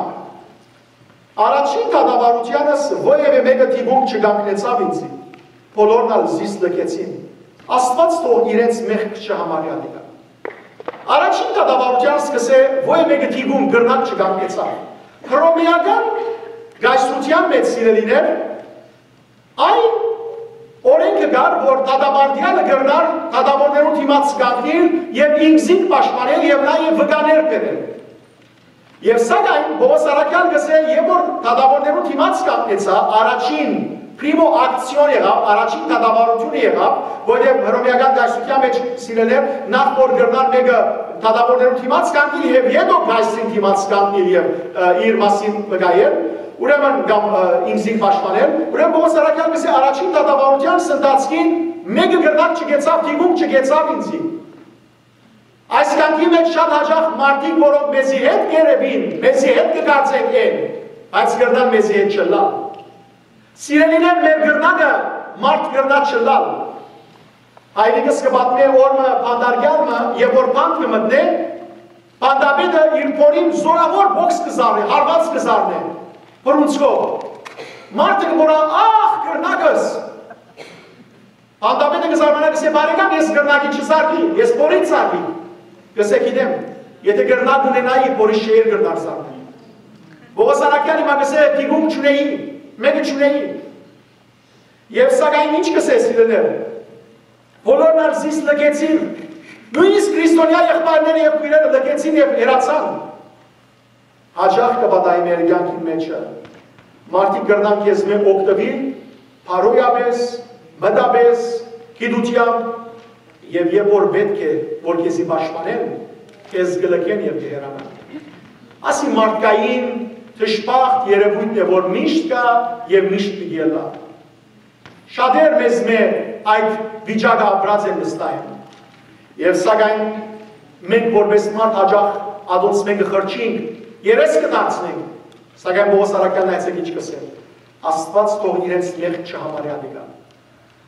Առաջին դատավարութեանս որեւէ մէկը դիպուկ չկանգնեցաւ ինծի, բոլորն ալ զիս լքեցին։ Աստուած թող իրենց մեղք չհամարի ատիկա։ Առաջին դատավարութեան սկսէ, որեւէ մէկը դիպուկ կրնակ չկանգնեցաւ։ Հռոմէական կայսրութեան մէջ, սիրելիներ, այն օրէնքը կար, որ դատապարտեանը կրնար դատավորներուն դիմաց կանգնիլ եւ ինքզինք պաշտպանել եւ նաեւ վկաներ բերել։ Եւ սակայն Պողոս առաքեալ կ'ըսէ, երբ որ դատավորներուն դիմաց կանգնեցայ, առաջին primo action եղաւ, առաջին դատավարութիւնը եղաւ, որովհետեւ հռոմէական կայսրութեան մէջ, սիրելիներ, նախ որ կրնար մէկը դատավորներուն դիմաց կանգնիլ եւ յետոյ կայսրին դիմաց կանգնիլ եւ, ը, իր մասին վկայել, ուրեմն կամ, ը, ինքզինք պաշտպանել, ուրեմն Պողոս առաքեալ կ'ըսէ, առաջին դատավարութեան ընթացքին մէկը կրնակ չկեցաւ, դիպուկ չկեցաւ ինձի։ Այս կեանքի մէջ շատ յաճախ մարդիկ, որոնք մեզի հետ կ'երեւին, մեզի հետ կը կարծեն են, բայց կրնան մեզի հետ չըլլալ։ Սիրելիներ, մեր կրնակը մարդ կրնայ չըլլալ։ Հայրիկս կը պատմէ օր մը բանտարկեալ մը, երբ որ բանտ կը մտնէ, բանտապետը իր փորին զօրաւոր բոքս կը զարնէ, հարուած կը զարնէ, բռունցքով։ Մարդը կը մոռայ, «Ախ, կրնակս»։ Բանտապետը կը զարմանայ, կ'ըսէ, «Բարեկամ, ես կրնակի չզարնի, ես փորին զարնի»։ Կ'ըսէ, «Գիտեմ, եթէ կրնակ ունենայի, փորի շէյր կրնար զարնել»։ Պողոս առաքեալ հիմա կ'ըսէ, «Դիպուկ չունէի, մէկը չունէի»։ Եւ սակայն ինչ կ'ըսէ, սիրելիներ, բոլորն ալ զիս լքեցին, նոյնիսկ քրիստոնեայ եղբայրները եւ քոյրերը լքեցին եւ հեռացան։ Յաճախ կը պատահի մեր կեանքին մէջը։ Մարդիկ կրնան քեզմէ օգտուիլ, բարոյապէս, մտապէս, գիտութեամբ, եւ երբ որ պէտք է, որ քեզի պաշտպանեն, քեզ կը լքեն եւ կը հեռանան։ Ասի մարդկային դժբախտ երևոյթն է, որ միշտ կայ եւ միշտ պիտի ըլլայ։ Շատեր մեզմէ այդ վիճակը ապրած են վստահ եմ։ Եւ սակայն մենք որպես մարդ յաճախ ատոնց մէկը խրչինք, երես կը դարձնենք, սակայն Պողոս առաքեալն, այցեք ինչ կ'ըսէ. «Աստուած թող իրենց մեղք չհամարի ատիկա»։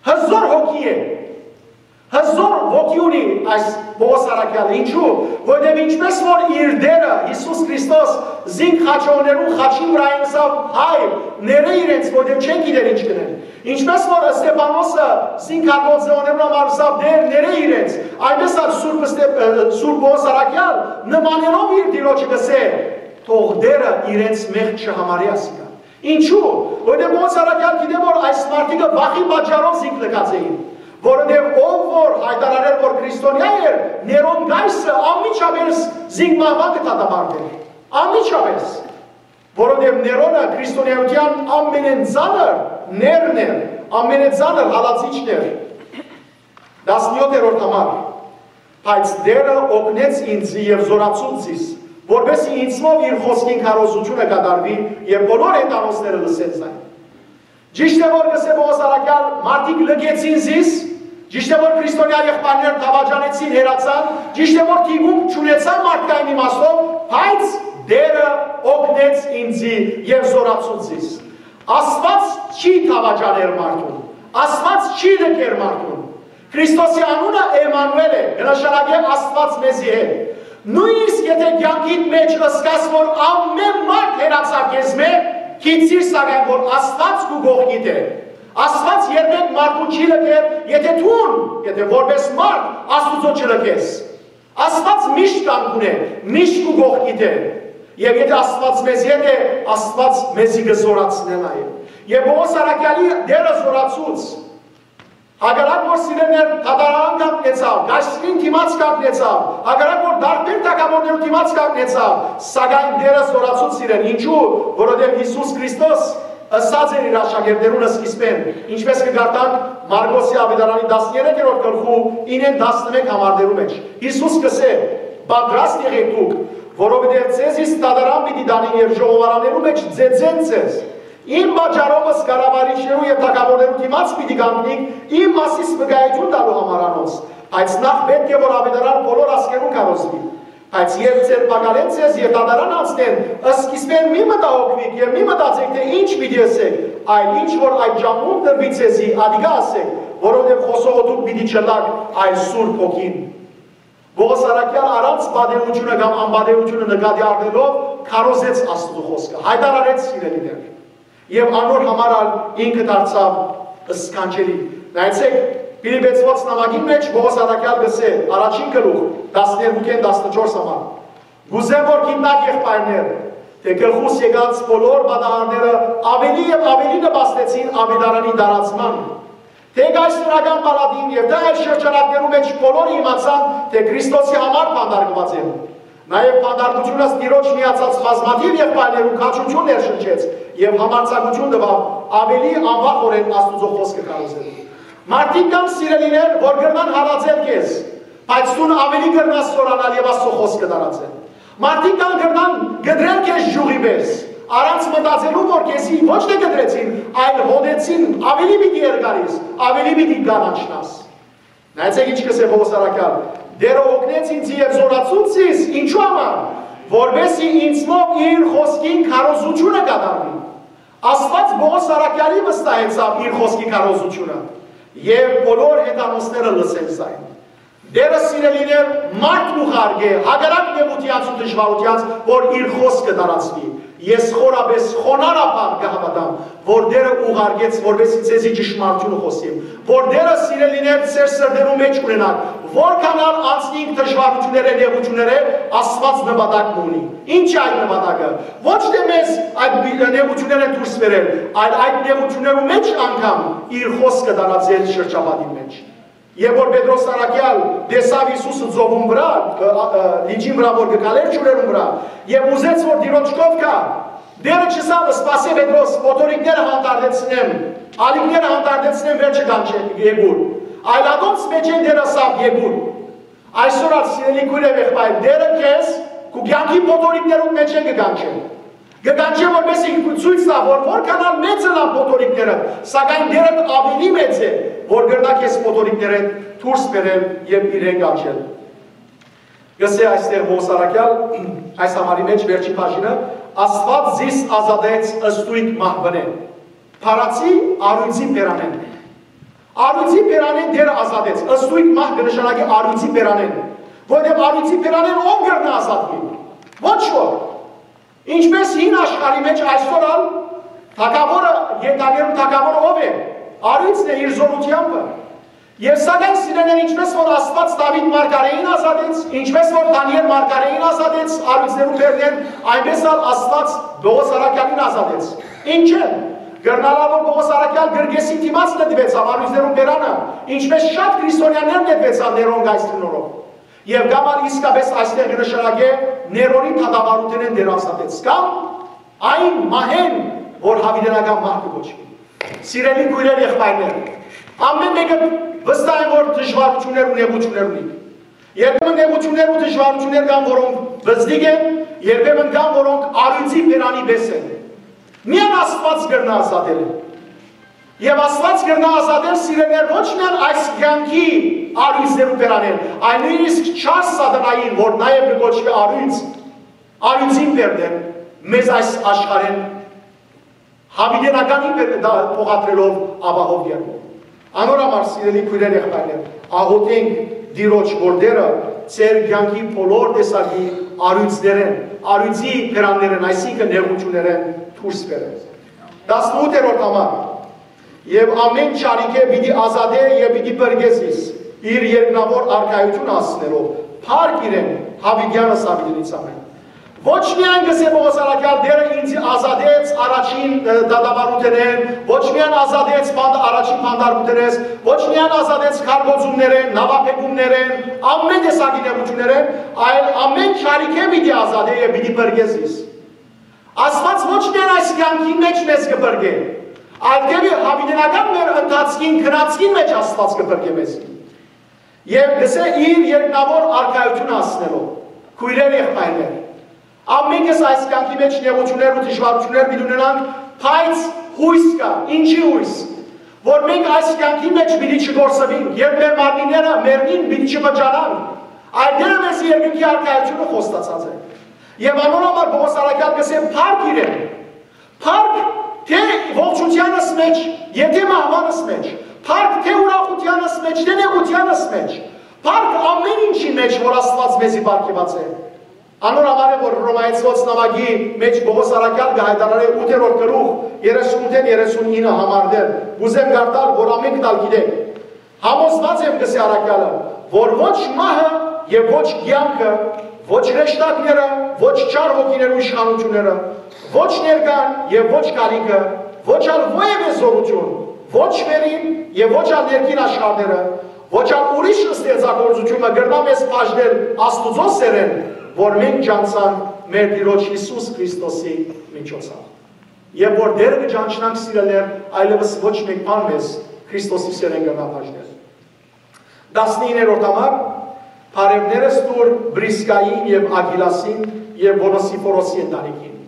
Հզոր հոգի է, հզոր ոգի ունի այս Պողոս առաքեալը։ Ինչու՞, որովհետեւ ինչպես որ իր Տերը Յիսուս Քրիստոս զինք խաչողներուն խաչին վրայ ըսաւ. «Հայր, ներէ իրենց, որովհետեւ չեն գիտեր ինչ կ'ընեն»։ Ինչպես որ Ստեփանոսը զինք հակոբձեոներուն համար ըսաւ. «Տէր, ներէ իրենց», այնպես ալ Սուրբ Ստեփ-, ը, Սուրբ Պողոս առաքեալ նմանելով իր Տիրոջը կ'ըսէ. «Թող Տերը իրենց մեղք չհամարի», ասիկա։ Ինչու՞, որովհետեւ Պողոս առաքեալ գիտէ, որ այս մարդիկը վախի պատճառով զինք լքած էին, որովհետեւ ով որ յայտարարեր, որ քրիստոնեայ էր, Ներոն կայսը անմիջապէս զինք մահուան կը դատապարտէր։ Անմիջապէս։ Որովհետեւ Ներոնը քրիստոնեայութեան ամենեն ծանր ներն էր, ամենեն ծանր հալածիչն էր։ Տասնյոթերորդ համար։ «Բայց Տերը օգնեց ինձ եւ զորացուց զիս, որպեսզի ինձմով իր խօսքին քարոզութիւնը կատարուի եւ բոլոր հեթանոսները լսեն զայն»։ Ճիշդ է, որ կ'ըսէ Պողոս առաքեալ, մարդիկ լքեցին զիս, ճիշդ է, որ քրիստոնեայ եղբայրներ դավաճանեցին, հեռացան, ճիշդ է, որ դիպուկ չունեցան մարդկային իմաստով, բայց Տերը օգնեց ինձի եւ զորացուց զիս։ Աստուած չի դավաճաներ մարդուն, Աստուած չի լքեր մարդուն։ Քրիստոսի անունը Էմմանուէլ է, կը նշանակէ Աստուած մեզի հետ։ Նոյնիսկ եթէ կեանքիդ մէջ ըսկաս որ ամէն մարդ հեռացաւ քեզմէ, գիտցիր սակայն որ Աստուած քու կողքիդ է։ Աստուած երբեք մարդուն չի լքեր, եթէ դուն, եթէ որպես մարդ Աստուծոյ չլքես։ Աստուած միշտ կանգուն է, միշտ քու կողքիդ է։ Եւ եթէ Աստուած մեզի հետ է, Աստուած մեզի կը զօրացնէ նաեւ։ Եւ Պողոս առաքեալի Տէրը զօրացուց։ Հակառակ որ սիրելիներ դատարան կանգնեցաւ, կայսրին դիմաց կանգնեցաւ, հակառակ որ դարբեր թագաւորներու դիմաց կանգնեցաւ, սակայն Տէրը զօրացուց իրեն։ Ինչու՞, որովհետեւ Յիսուս Քրիստոս ըսած էր իր աշակերտներուն սկիզբէն, ինչպես կը կարդանք Մարկոսի աւետարանի տասներեքերորդ գլխու ինեն տասնմէկ համարներու մէջ։ Յիսուս կ'ըսէ. «Պատրաստ եղէք դուք, որովհետեւ ձեզի դատարան պիտի տանին եւ ժողովարաններու մէջ ծեծեն ձեզ։ Իմ պատճառովս կառավարիչներու եւ թագաւորներու դիմաց պիտի կանգնիք իմ մասիս վկայութիւն տալու համար անոնց, բայց նախ պէտք է որ աւետարան բոլոր ազգերուն քարոզուի։ Բայց երբ ձերբակալեն ձեզ եւ դատարան անցնեն, սկիզբէն մի մտահոգուիք եւ մի մտածէք թէ ինչ պիտի ըսէք, այլ ինչ որ այդ ժամուն տրուի ձեզի, ատիկա ըսէք, որովհետեւ խօսողը դուք պիտի չըլլաք, այլ Սուրբ Հոգին»։ Պողոս առաքեալ առանց պատեհութիւնը կամ անպատեհութիւնը նկատի առնելով քարոզեց Աստուծոյ խօսքը, յայտարարեց, սիրելիներ։ Եւ անոր համար ալ ինքը դարձաւ սքանչելի։ Նայեցէք, Փիլիպեցիներուն նամակին մէջ Պողոս առաքեալ կ'ըսէ, առաջին գլուխ, տասներկուքէն տասնչորս համար. «Կ'ուզեմ որ գիտնաք, եղբայրներ, թէ գլխուս եկած բոլոր պատահարները աւելի եւ աւելի նպաստեցին աւետարանի տարածման, թէ կայսերական պալատին եւ թէ այլ շրջանակներու մէջ բոլորը իմացան թէ Քրիստոսի համար բանտարկուած եմ։ Նաեւ բանտարկութիւնս Տիրոջ միացած բազմաթիւ եղբայրներուն քաջութիւն ներշնչեց եւ համարձակութիւն տուաւ աւելի անվախօրէն Աստուծոյ խօսքը քարոզել»։ Մարդիկ կան, սիրելիներ, որ կրնան հալածել քեզ, բայց դուն աւելի կրնաս զօրանալ եւ Աստուծոյ խօսքը տարածել։ Մարդիկ կան կրնան կտրել քեզ յուղի պես, առանց մտածելու որ քեզի ոչ թէ կտրեցին, այլ հոտեցին, աւելի պիտի երկարիս, աւելի պիտի կանաչնաս։ Նայեցէք ինչ կ'ըսէ Պողոս առաքեալ. «Տէրը օգնեց ինձ եւ զօրացուց զիս, ինչու համար, որպեսզի ինձմով իր խօսքին քարոզութիւնը կատարուի»։ Աստուած Պողոս առաքեալի վստահեցաւ իր խօսքի քարոզութիւնը, եւ բոլոր հեթանոսները լսեն զայն։ Տէրը, սիրելիներ, մարդ կ'ուղարկէ հակառակ նեղութեանց ու դժուարութեանց, որ իր խօսքը տարածուի։ Ես խորապէս խոնարհաբար կը հաւատամ, որ Տէրը ուղարկեց, որպեսզի ձեզի ճշմարտութիւնը խօսիմ, որ Տէրը, սիրելիներ, ձեր սրտերու մէջ ունենաք, որքան ալ անցնինք դժուարութիւններէ, նեղութիւններէ, Աստուած նպատակ մը ունի։ Ինչ է այդ նպատակը։ Ոչ թէ մեզ այդ նեղութիւններէն դուրս բերել, այլ այդ նեղութիւններու մէջ անգամ իր խօսքը տարածել շրջապատին մէջ։ Երբ որ Պետրոս առաքեալ տեսաւ Յիսուսը ծովուն վրայ, ը, ը, լիճին վրայ որ կը քալէր ջուրերուն վրայ, եւ ուզեց որ Տիրոջ քով գայ, Տէրը չըսաւ. «Սպասէ, Պետրոս, փոթորիկները հանդարտեցնեմ, ալիքները հանդարտեցնեմ, վերջը կանչեմ, եկուր»։ Այլ ատոնց մէջէն Տէրը ըսաւ. «Եկուր»։ Այսօր ալ, սիրելի քոյր եւ եղբայր, Տէրը քեզ քու կեանքի փոթորիկներուն մէջէն կը կանչէ։ Կը կանչէ, որպեսզի ցոյց տայ որ որքան ալ մեծ ըլլան փոթորիկները, սակայն Տէրդ աւելի մեծ է, որ կրնայ քեզ փոթորիկներէն դուրս բերել եւ իրեն կանչել։ Կ'ըսէ այստեղ Պողոս առաքեալ, այս համարի մէջ վերջին բաժինը. «Աստուած զիս ազատեց ստոյգ մահուենէն, փարածի առիւծի բերանէն»։ Առիւծի բերանէն Տէրը ազատեց։ Ստոյգ մահ կը նշանակի առիւծի բերանէն, որովհետեւ առիւծի բերանէն ո՞վ կրնայ ազատուիլ։ Ոչ ոք։ Ինչպես հին աշխարհի մէջ, այսօր ալ թագաւորը, կենդանիներուն թագաւորը ո՞վ է։ Առիւծն է իր զօրութեամբը։ Եւ սակայն, սիրելիներ, ինչպես որ Աստուած Դաւիթ մարգարէին ազատեց, ինչպես որ Դանիէլ մարգարէին ազատեց առիւծներուն բերանէն, այնպես ալ Աստուած Պողոս առաքեալին ազատեց։ Ինչէն։ Կրնար ալ որ Պողոս առաքեալ կրկեսին դիմաց նետուեցաւ առիւծներուն բերանը, ինչպես շատ քրիստոնեաներ նետուեցան Ներոն կայսրին օրով։ Եւ կամ ալ իսկապես այստեղ կը նշանակէ Ներոնի դատավարութենէն Տէրը ազատեց, կամ այն մահէն, որ յաւիտենական մահ կը կոչուի։ Սիրելի քոյրեր, եղբայրներ, ամէն մէկը վստահ են որ դժուարութիւններ ու նեղութիւններ ունի։ Երբեմն նեղութիւններ ու դժուարութիւններ կան, որոնք բզդիկ են, երբեմն կան, որոնք առիւծի բերանի պես են։ Միայն Աստուած կրնայ ազատել։ Եւ Աստուած կրնայ ազատել, սիրելիներ, ոչ միայն այս կեանքի առիւծներու բերանէն, այլ նոյնիսկ չար սատանային, որ նաեւ կը կոչուի առիւծ, առիւծին բերնէն, մեզ այս աշխարհէն յաւիտենականին բեր-, դա փոխադրելով ապահով կերպով։ Անոր համար, սիրելի քոյրեր, եղբայրներ, աղօթենք Տիրոջ, որ Տերը ձեր կեանքի բոլոր տեսակի առիւծներէն, առիւծի բերաններէն, այսինքն՝ նեղութիւններէն դուրս բերէ։ Տասնութերորդ համար. «Եւ ամէն չարիքէ պիտի ազատէ եւ պիտի փրկէ զիս, իր երկնաւոր արքայութիւնը հասցնելով, փառք իրեն, յաւիտեանս յաւիտենիցամէն»։ Ոչ միայն, կ'ըսէ Պողոս առաքեալ, Տէրը ինծի ազատեց առաջին, ը, դատավարութենէն, ոչ միայն ազատեց բանդ-, առաջին բանտարկութենէս, ոչ միայն ազատեց քարկոծումներէն, նաւաբեկումներէն, ամէն տեսակի նեղութիւններէն, այլ ամէն չարիքէ պիտի ազատէ եւ պիտի փրկէ զիս։ Աստուած ոչ միայն այս կեանքին մէջ մեզ կը փրկէ, այլ դէպի յաւիտենական մեր ընթացքին, գնացքին մէջ Աստուած կը փրկէ մեզ։ Եւ կ'ըսէ, իր երկնաւոր արքայութիւնը հասցնելով, քոյրեր, եղբայրներ, ամենքս այս կեանքի մէջ նեղութիւններ ու դժուարութիւններ պիտի ունենանք, բայց յոյս կայ, ինչի՞ յոյս, որ մենք այս կեանքի մէջ պիտի չկորսուինք, երբ մեր մարմինները մեռնին, պիտի չվճարանանք, այլ Տէրը մեզի երկնքի արքայութիւնը խոստացած է։ Եւ անոր համար Պողոս առաքեալ կ'ըսէ. «Փառք իրեն»։ Փառք թէ ողջութեանս մէջ, եթէ մահուանս մէջ, փառք թէ ուրախութեանս մէջ, թէ նեղութեանս մէջ, փառք ամէն ինչի մէջ, որ Աստուած մեզի պարգեւած է։ Անոր համար է, որ Հռոմայեցիներուն նամակի մէջ Պողոս առաքեալ կը յայտարարէ ութերորդ գլուխ, երեսունութ երեսունինը համարներ, կ'ուզեմ կարդալ, որ ամէնքդ ալ գիտէք։ «Համոզուած եմ, կ'ըսէ առաքեալը, որ ոչ մահը եւ ոչ կեանքը, ոչ հրեշտակները, ոչ չար հոգիներու իշխանութիւնները, ոչ ներկան եւ ոչ գալիքը, ոչ ալ որեւէ զօրութիւն, ոչ վերին եւ ոչ ալ ներքին աշխարհները, ոչ ալ ուրիշ ստեղծագործութիւնը կրնայ մեզ բաժնել Աստուծոյ սէրէն, որ մենք ճանչցանք մեր Տիրոջ Յիսուս Քրիստոսի միջոցով»։ Երբ որ Տէրը կը ճանչնանք, սիրելիներ, այլեւս ոչ մէկ բան մեզ Քրիստոսի սէրէն կրնայ բաժնել։ Տասնիններորդ համար. «Բարեւներս տուր Պրիսկային եւ Ակիլասին եւ Ոնոսիֆորոսի ընտանիքին»։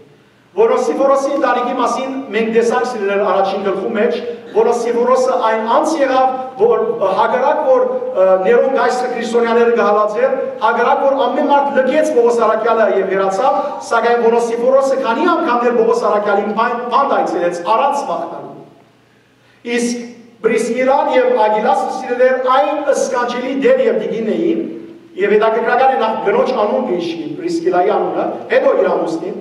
Ոնոսիֆորոսի ընտանիքի մասին մենք տեսանք, սիրելիներ, առաջին գլխու մէջ, Ոնոսիֆորոսը այն անձ եղաւ, որ, հակառակ որ, ը, Ներոն կայսրը քրիստոնեաները կը հալածէր, հակառակ որ ամէն մարդ լքեց Պողոս առաքեալը եւ հեռացաւ, սակայն Ոնոսիֆորոսը քանի՞ անգամներ Պողոս առաքեալին բան-, բանտ այցելեց առանց մաղթանալու։ Իսկ Պրիսկիլան եւ Ակիլասը, սիրելիներ, այն սքանչելի Տէր եւ Տիկինն էին, եւ հետաքրքրական է, նախ կնոջ անուն կը հիշի, Պրիսկիլայի անունը, հետո իր ամուսնին,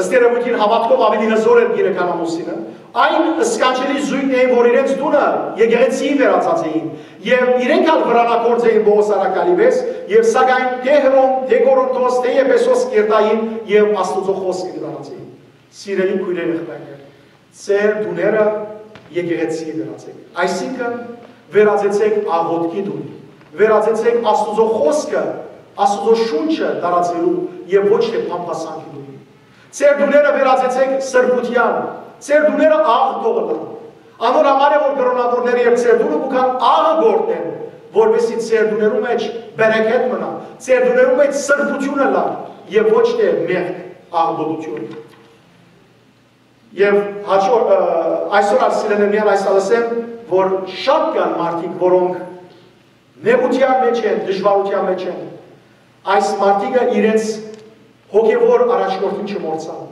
ըստ երևոյթին հաւատքով աւելի հզոր էր կինը քան ամուսինը, այն սքանչելի զոյգն էին, որ իրենց տունը եկեղեցիի վերածած էին, եւ իրենք ալ վրանակորձ էին Պողոս առաքեալի պէս, եւ սակայն թէ Հռոմ, թէ Կորինթոս, թէ Եփեսոս կ'երթային եւ Աստուծոյ խօսքը կը տարածէին։ Սիրելի քոյրեր, եղբայրներ, ձեր տուները եկեղեցի վերածէք։ Այսինքն, վերածեցէք աղօթքի տուն, վերածեցէք Աստուծոյ խօսքը, Աստուծոյ շունչը տարածելու եւ ոչ թէ բամբասանքի տուն։ Ձեր տուները վերածեցէք սրբութեան, ձեր տուները աղ թող ըլլան։ Անոր համար է, որ կրօնաւորները եւ ձեր տունը կու գան աղը գործեն, որպեսզի ձեր տուներու մէջ բերեքեթ մնայ, ձեր տուներու մէջ սրբութիւն ըլլայ եւ ոչ թէ մեղք, աղբոտութիւն։ Եւ հաճո-, ը, այսօր ալ, սիրելիներ, միայն այս ալ ըսեմ, որ շատ կան մարդիկ, որոնք նեղութեան մէջ են, դժուարութեան մէջ են։ Այս մարդիկը իրենց հոգեվոր առաջնորդին չմոռցան։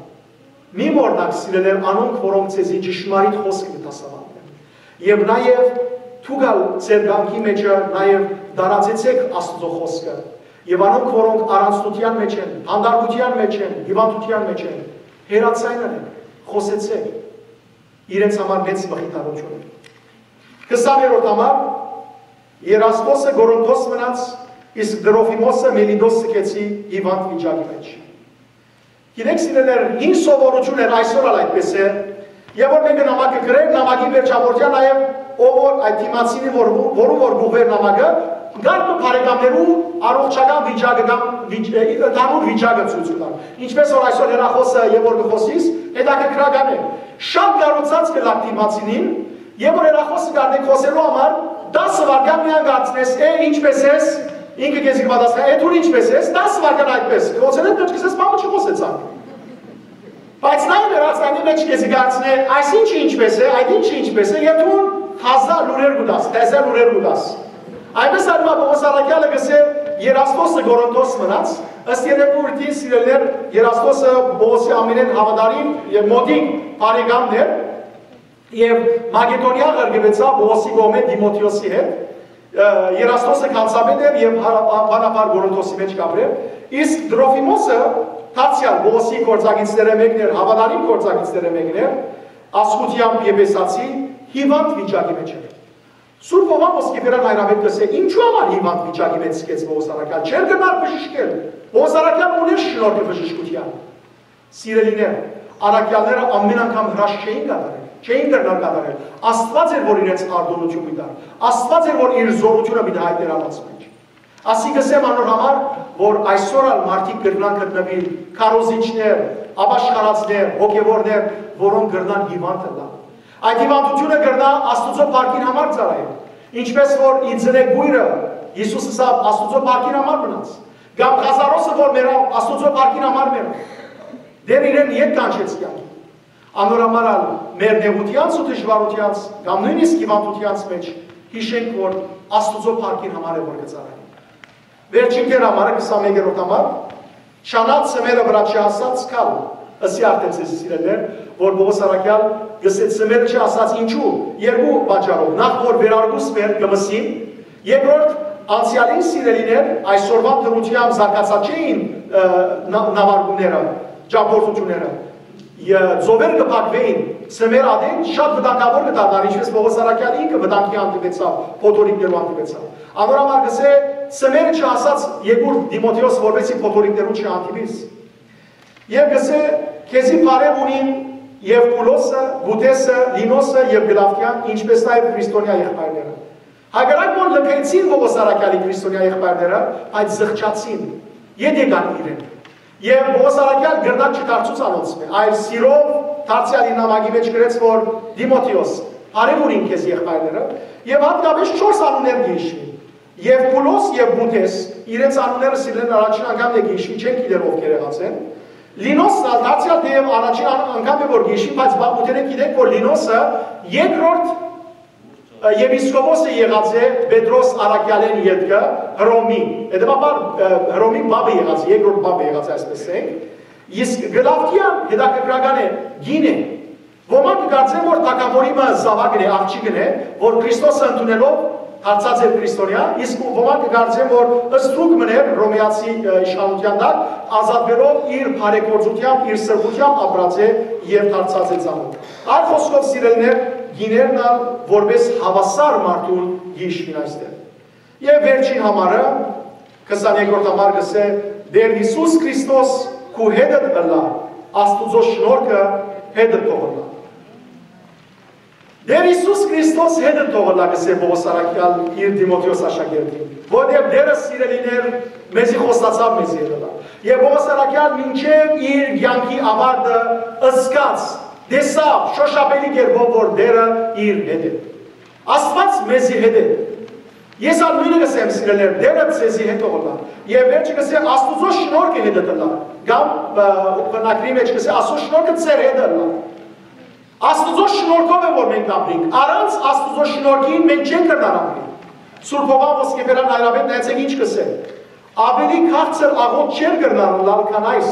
Մի մոռնաք, սիրելիներ, անոնք, որոնք ձեզի ճշմարիտ խօսքը կը դասաւանդեն։ Եւ նաեւ դուք ալ ձեր կեանքի մէջը նաեւ տարածեցէք Աստուծոյ խօսքը։ Եւ անոնք, որոնք առանձնութեան մէջ են, բանտարկութեան մէջ են, հիւանդութեան մէջ են, հեռաձայնը խօսեցէք, իրենց համար մեծ մխիթարութիւն է։ Քսաներորդ համար. «Երաստոսը Կորինթոս մնաց, իսկ Տրոֆիմոսը Միլիտոս սքեցի հիւանդ վիճակի մէջ»։ Գիտեք, սիրելիներ, հին սովորութիւն էր, այսօր ալ այդպես է, եւ որ մէկը նամակը գրեր, նամակի վերջավորդեան նաեւ ով որ այդ դիմացինի, որ, որուն որ կ'ուղղուէր նամակը, կարգ մը բարեկամներու առողջական վիճակը կամ վիճ-, ը, ընդհանուր վիճակը ցոյց կտար։ Ինչպես որ այսօր հեռախօսը եւ որ կը խօսիս, հետաքրքրական է։ Շատ կարոցած կ'ըլլայ դիմացինին, եւ որ հեռախօսը կ'առնէ խօսելու համար, դասը վայրկեան միայն կարծես, «Է, ինչպես ես»։ Ինքը քեզի կը պատասխանէ, «Է, դու ինչպես ես»։ Դասը վայրկեան այդպես, խօսելէ մէջ կ'ըսես, «Բան մը չխօսեցանք»։ Բայց նայ, վերածնանի մէջ քեզի կարծնէ, «Այս ինչը ինչպես է, այդ ինչը ինչպես է», եւ դու թազա լուրեր կու տաս, թազա լուրեր կու տաս։ Այնպես ալ Պողոս առաքեալը կ'ըսէ. «Երաստոսը Կորինթոս մնաց», ըստ երևոյթին, սիրելիներ, Երաստոսը Պողոսի ամենէն հաւատարիմ եւ մոտիկ բարեկամն էր, Եւ Մակեդոնիա ղրկուեցաւ Պողոսի կողմէ Տիմոթէոսի հետ, ը, Երաստոսը գանձապետ էր եւ հարաբանաբար Կորինթոսի մէջ կ'ապրէր, իսկ Տրոֆիմոսը դարձեալ Պողոսի գործակիցներէ մէկն էր, հաւատարիմ գործակիցներէ մէկն էր, ազգութեամբ Եփեսացի, հիւանդ վիճակի մէջ էր։ Սուրբ Հովհան Ոսկեբերան հայրապետ կ'ըսէ, ինչու համար հիւանդ վիճակի մէջ սկեց Պողոս առաքեալ, չէր կրնար բժշկել, Պողոս առաքեալ ունէր շնորհքը բժշկութեան։ Սիրելիներ, առաքեալները ամեն անգամ հրաշք չէին կատարել, չէին կրնար կատարել։ Աստուած էր, որ իրենց արտոնութիւն պիտի տար, Աստուած էր, որ իր զօրութիւնը պիտի հայտներ անոնց մէջ։ Ասիկա կ'ըսեմ անոր համար, որ այսօր ալ մարդիկ կրնան գտնուիլ քարոզիչներ, ապաշխարածներ, հոգեւորներ, որոնք կրնան հիւանդ ըլլան։ Այդ հիւանդութիւնը կրնայ Աստուծոյ փառքին համար ծառայել, ինչպէս որ ի ծնե կոյրը, Յիսուս ըսաւ, Աստուծոյ փառքին համար մնաց, կամ Ղազարոսը, որ մեռաւ, Աստուծոյ փառքին համար մեռաւ։ Դեռ իրեն ետ կանչեց կեանքի։ Անոր համար ալ մեր նեղութեանց ու դժուարութեանց կամ նոյնիսկ հիւանդութեանց մէջ յիշենք, որ Աստուծոյ փառքին համար է, որ կը ծառայենք։ Վերջին դեր համարը, քսանմեկերորդ համար, շանած սմերը վրայ չհասած գալ, ըսի արդէն ձեզ, սիրելիներ, որ Պողոս առաքեալ կ'ըսէ, սմերը չհասած ինչու, երկու պատճառով, նախ որ վերարկուս մեր կը մսին, երկրորդ անցեալին, սիրելիներ, այսօրվան դրությամբ զարգացած չէին, ը, նա-, նավարկումները, ճամբորդությունները, ը, ծովեր կը փակուէին, սմեր ատեն շատ վտանգաւոր կը դառնար, ինչպէս Պողոս առաքեալ ինքը վտանգի հանդիպեցաւ, փոթորիկներու հանդիպեցաւ։ Անոր համար կ'ըսէ, սմերը չհասած եկուր Տիմոթէոս, որպեսզի փոթորիկներու չհանդիպիս։ Եւ կ'ըսէ, քեզի բարեւ ունին Եւբուլոսը, Պուտեսը, Լինոսը եւ Կլաւդիան, ինչպէս նաեւ Քրիստոնեայ եղբայրները։ Հակառակ որ լքեցին Պողոս առաքեալի Քրիստոնեայ եղբայրները, բայց զղջացին, ետ եկան իրեն։ Եւ Պողոս առաքեալ կրնակ չդարձուց անոնցմէ, այլ սիրով դարձեալ իր նամակի մէջ գրեց, որ Տիմոթէոս, բարեւ ունին քեզ եղբայրները, եւ հատկապես չորս անուններ կը յիշուին։ Եւբուլոս եւ Պուտես, իրենց անունները, սիրելիներ, առաջին անգամ է կը յիշուի, չենք գիտեր ովքեր եղած են։ Լինոսն ալ դարձեալ թէեւ առաջին ան-, անգամ է որ կը յիշուի, բայց բա Պուտենէ գիտենք, որ Լինոսը երկրորդ ը, եպիսկոպոսը եղած է Պետրոս առաքեալէն ետքը Հռոմի, հետեւաբար, ը, Հռոմի պապը եղած է, երկրորդ պապը եղած է, այսպես ասենք, իսկ Կլաւդիան հետաքրքրական է, կին է։ Ոմանք կը կարծեն, որ թագաւորի մը զաւակն է, աղջիկն է, որ Քրիստոսը ընդունելով դարձած էր քրիստոնեայ, իսկ ոմանք կը կարծեն, որ ստրուկ մըն էր Հռոմեացի, ը, իշխանութեան տակ, ազատվելով իր բարեգործութեամբ, իր սրբութեամբ ապրած է եւ դարձած է ծանօթ։ Այլ խօսքով, սիրելիներ, կիներն ալ որպէս հաւասար մարդուն յիշուին այստեղ։ Եւ վերջին համարը, քսաներկրորդ համար կ'ըսէ, Տէր Յիսուս Քրիստոս քու հետդ ըլլայ, Աստուծոյ շնորհքը հետդ թող ըլլայ։ Տէր Յիսուս Քրիստոս հետդ թող ըլլայ, կ'ըսէ Պողոս առաքեալ իր Տիմոթէոս աշակերտին, որտեղ Տէրը, սիրելիներ, մեզի խոստացաւ մեզի հետ ըլլայ։ Եւ Պողոս առաքեալ մինչեւ իր կեանքի աւարտը զգաց, տեսաւ շոշափելի կերպով, որ Տէրը իր հետ է։ Աստուած մեզի հետ է։ Ես ալ նոյնը կ'ըսեմ, սիրելիներ, Տէրը ձեզի հետ ըլլայ։ Եւ վերջը կ'ըսէ, Աստուծոյ շնորհքը հետդ ըլլայ։ Կամ, ը, բնակրի մէջ կ'ըսէ, Աստուծոյ շնորհքը ձեր հետ ըլլայ։ Աստուծոյ շնորհքով է, որ մենք ապրենք։ Առանց Աստուծոյ շնորհքին մենք չենք կրնար ապրել։ Սուրբ Հովհան Ոսկեբերան հայրապետն, նայեցէք ինչ կ'ըսէ. «Աւելի քաղցր աղօթք չէր կրնար ըլլալ, քան այս.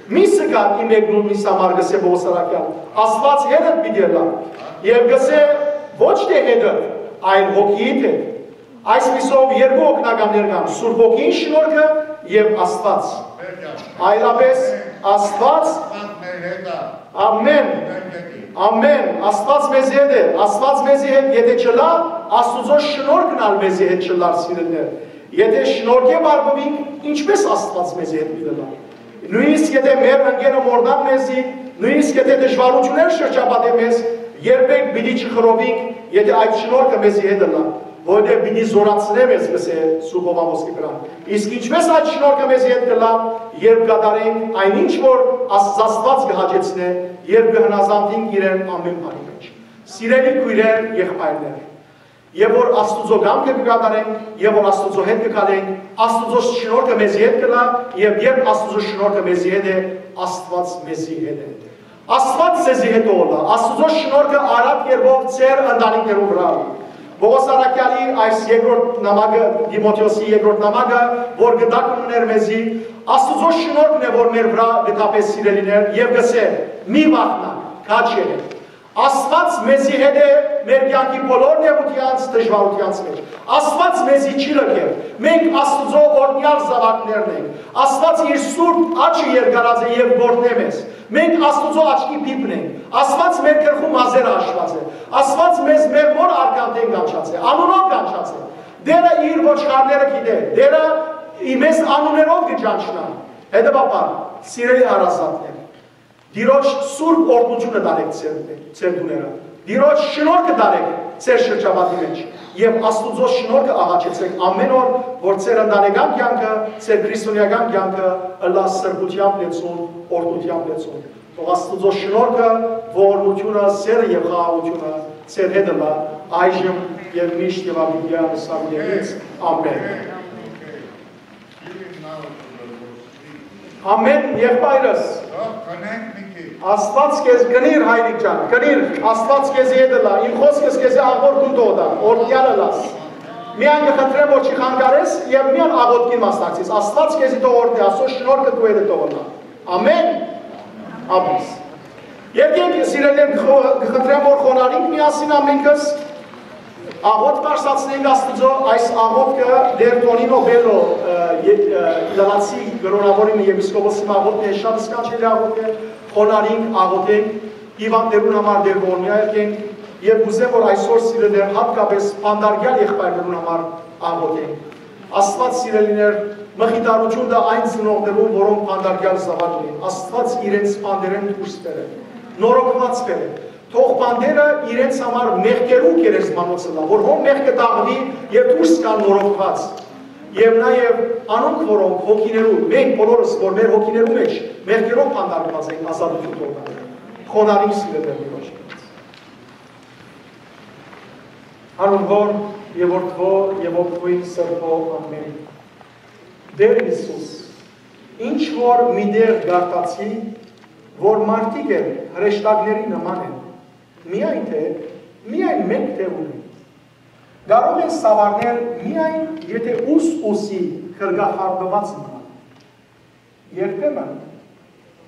"Մի զգար իմ մեկնումնիս համար", կ'ըսէ Պողոս առաքեալ, "Աստուած հետդ պիտի ըլլայ"։ Եւ կ'ըսէ. "Ոչ թէ հետդ, այլ հոգիիդ հետ"։ Այսպիսով երկու օգնականներ կան. Սուրբ Հոգին շնորհքը եւ Աստուած։ Այլապես Աստուած, ամեն, ամեն, Աստուած մեզի հետ է, Աստուած մեզի հետ, եթե չլա, Աստուծոյ շնորհքն ալ մեզի հետ չլար, սիրելիներ։ Եթե շնորհքէ պարպուինք, ինչպես Աստուած մեզի հետ պիտի լա։ Նոյնիսկ եթե մեր ընկերը մոռնան մեզի, նոյնիսկ եթե դժուարութիւններ շրջապատեն մեզ, երբեք պիտի չխռովինք, եթե այդ շնորհքը մեզի հետ ըլլայ, որովհետեւ պիտի զօրացնէ մեզ", կ'ըսէ Սուրբ Հովհան Ոսկեբերան։ Իսկ ինչպես այդ շնորհքը մեզի հետ կ'ըլլայ, երբ կատարենք այն ինչ որ Աստուած կը հաճեցնէ, երբ կը հնազանդենք իրեն ամեն բանի մէջ։ Սիրելի քոյրեր, եղբայրներ, եւ որ Աստուծոյ կամքը կը կատարենք, եւ որ Աստուծոյ հետ կը գալենք, Աստուծոյ շնորհքը մեզի հետ կ'ըլլայ, եւ երբ Աստուծոյ շնորհքը մեզի հետ է, Աստուած մեզի հետ է։ Աստուած ձեզի հետ ըլլայ, Աստուծոյ շնորհքը առատ կերպով ձեր ընտանիքներուն վրայ։ Պողոս առաքեալի այս երկրորդ նամակը, Տիմոթէոսի երկրորդ նամակը, որ կը տակնուներ մեզի, Աստուծոյ շնորհքն է, որ մեր վրայ կը թափէ, սիրելիներ, եւ կ'ըսէ. "Մի վախնաք, քաջ եղէք"։ Աստուած մեզի հետ է մեր կեանքի բոլոր նեղութեանց, դժուարութեանց մէջ։ Աստուած մեզի չի լքեր։ Մենք Աստուծոյ օրհնեալ զաւակներն ենք։ Աստուած իր սուրբ աչքը երկարած է եւ կ'օրհնէ մեզ։ Մենք Աստուծոյ աչքի բիբն ենք։ Աստուած մեր գլխու մազերը հաշուած է։ Աստուած մեզ մեր մօր արքանտէն կանչած է, անունով կանչած է։ Տէրը իր ոչխարները գիտէ։ Տէրը ի-, մեզ անուններով կը ճանչնայ։ Հետեւաբար, սիրելի հարազատներ, Տիրոջ սուրբ օրհնութիւնը տանէք ձեր, ձեր տուները։ Տիրոջ շնորհքը տանէք ձեր շրջապատի մէջ եւ Աստուծոյ շնորհքը աղաչեցէք ամէն օր, որ ձեր ընտանեկան կեանքը, ձեր քրիստոնեական կեանքը ըլլայ սրբութեամբ լեցուն, օրհնութեամբ լեցուն։ Թող Աստուծոյ շնորհքը, ողորմութիւնը, սէրը եւ խաղաղութիւնը ձեր հետ ըլլայ այժմ եւ միշտ եւ աբիդեան սարդերից։ Ամէն։ Ամէն, եղբայրս։ Աստուած քեզ կնիր, հայրիկ ջան, կնիր, Աստուած քեզի հետ ըլլայ, իմ խօսքս քեզի աղբոր կուն թող տայ, օրհնեալ ըլլաս։ Միայն կը խնդրեմ, որ չի խանգարես եւ միայն աղօթքին մասնակցես։ Աստուած քեզի թող օրհնի, Աստուծոյ շնորհքը քու հետ թող ըլլայ։ Ամէն։ Ամէն։ Եկեք, սիրելիներ, կը խո-, կը խնդրեմ, որ խոնարհենք միասին ամենքս, աղօթք բարձրացնենք Աստուծոյ, այս աղօթքը Տէր Տոնինո Բելլո, ը, ե-, ը, Իտալացի կրօնաւորի մը եպիսկոպոսի մը աղօթքն է, շատ սքանչելի աղօթք է, խոնարհենք, աղօթենք հիւանդներուն համար Տէր ողորմեալ եղենք եւ կ'ուզեմ, որ այսօր, սիրելիներ, յատկապէս բանտարկեալ եղբայրներուն համար աղօթենք։ Աստուած, սիրելիներ, մխիթարութիւն տայ այն ծնողներուն, որոնք բանտարկեալ զաւակ ունին։ Աստուած իրենց բանտերէն դուրս բերէ, նորոգուած բերէ։ Թող բանտերը իրենց համար մեղքերու գերեզմանոց ըլլայ, որ հոն մեղքը թաղուի եւ դուրս գան նորոգուած։ Եւ նաեւ անոնք, որոնք հոգիներու, մենք բոլորս, որ մեր հոգիներու մէջ մեղքերով բանտարկուած ենք, ազատութիւն թող տայ։ Խոնարհենք, սիրելիներ, Տիրոջ։ Անուն Հօր եւ Որդւոյ եւ Հոգիին Սրբոյ։ Ամէն։ Տէր Յիսուս, ինչ որ մի տեղ կարդացի, որ մարդիկ էլ հրեշտակների նման են, միայն թե, միայն մէկ դեւ ունեն։ Կարող են սաւառնել միայն, եթե ուս-ուսի գրկախառնուած մնան։ Երբեմն,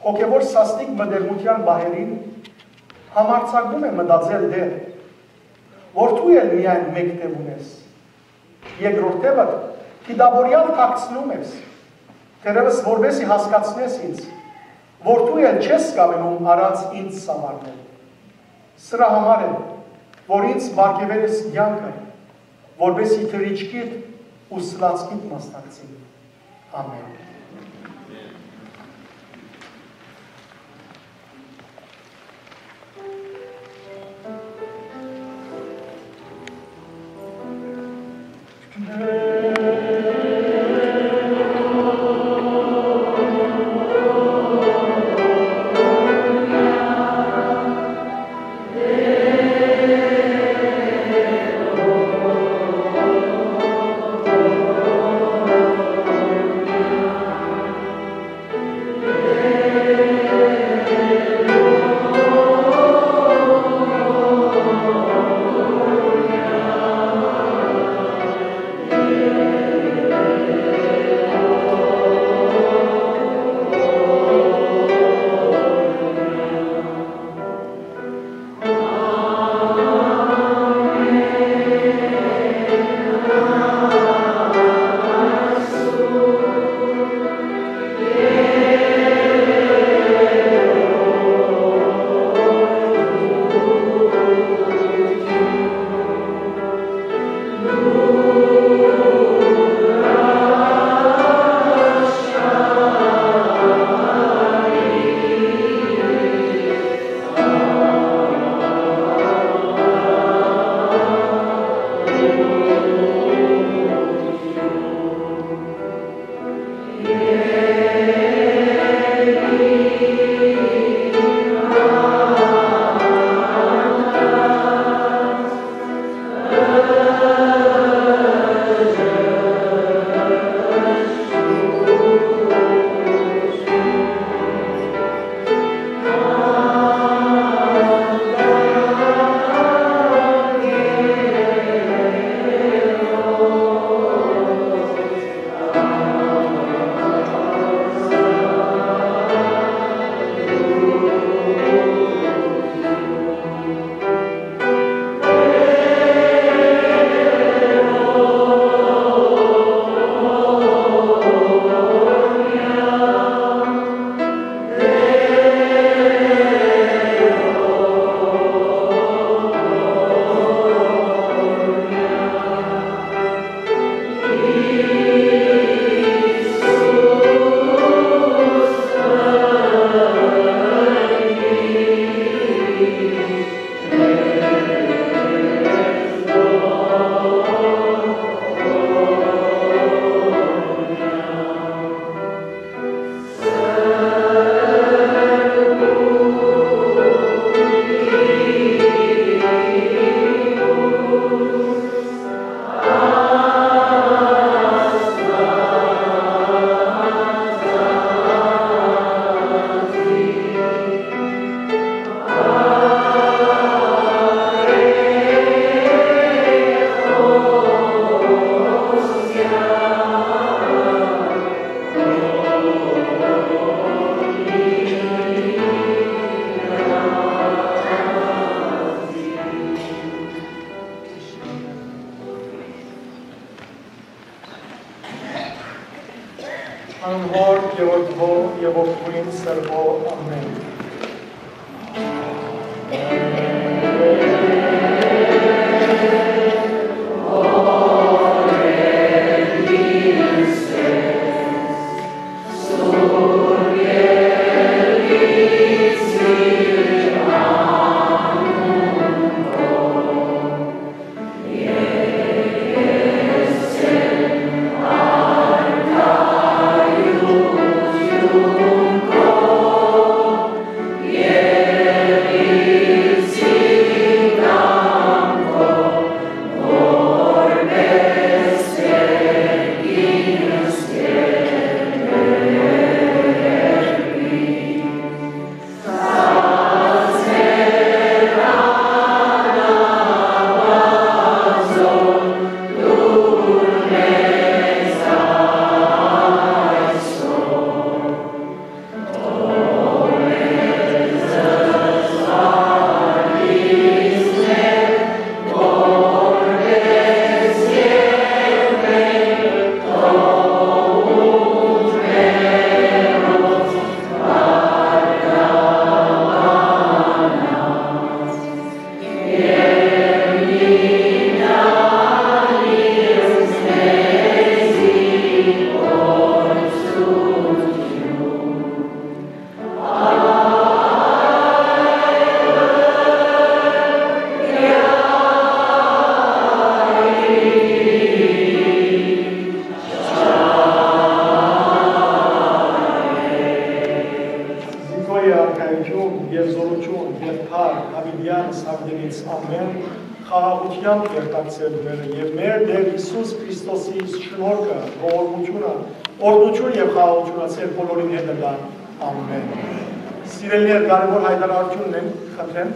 հոգեւոր սաստիկ մտերմութեան պահերին համարձակում է մտածել Տէր, որ դու էլ միայն մէկ դեւ ունես։ Երկրորդ դեւը դիտաւորեալ թաքցնում ես, թերեւս որպեսզի հասկացնես ինձ, որ դու էլ չես կամենում առանց ինձ սաւառնել։ Սրա համար է, որ ինձ պարգեւեր ես կեանքը, որպեսզի թռիչքիդ ու սլացքիդ մասնակցին։ Ամէն։ Սրբոյ, ամէն։ Զինքոյ արքայութիւն եւ զօրութիւն եւ փառք յաւիտեան սարդերից, ամէն, խաղաղութեամբ երթաք ձեր տները եւ մեր Տէր Յիսուս Քրիստոսի շնորհքը, ողորմութիւնը, օրհնութիւն եւ խաղաղութիւնը ձեր բոլորին հետ ըլլայ, ամէն։ Սիրելիներ, կարեւոր յայտարարութիւնն եմ, խնդրեմ,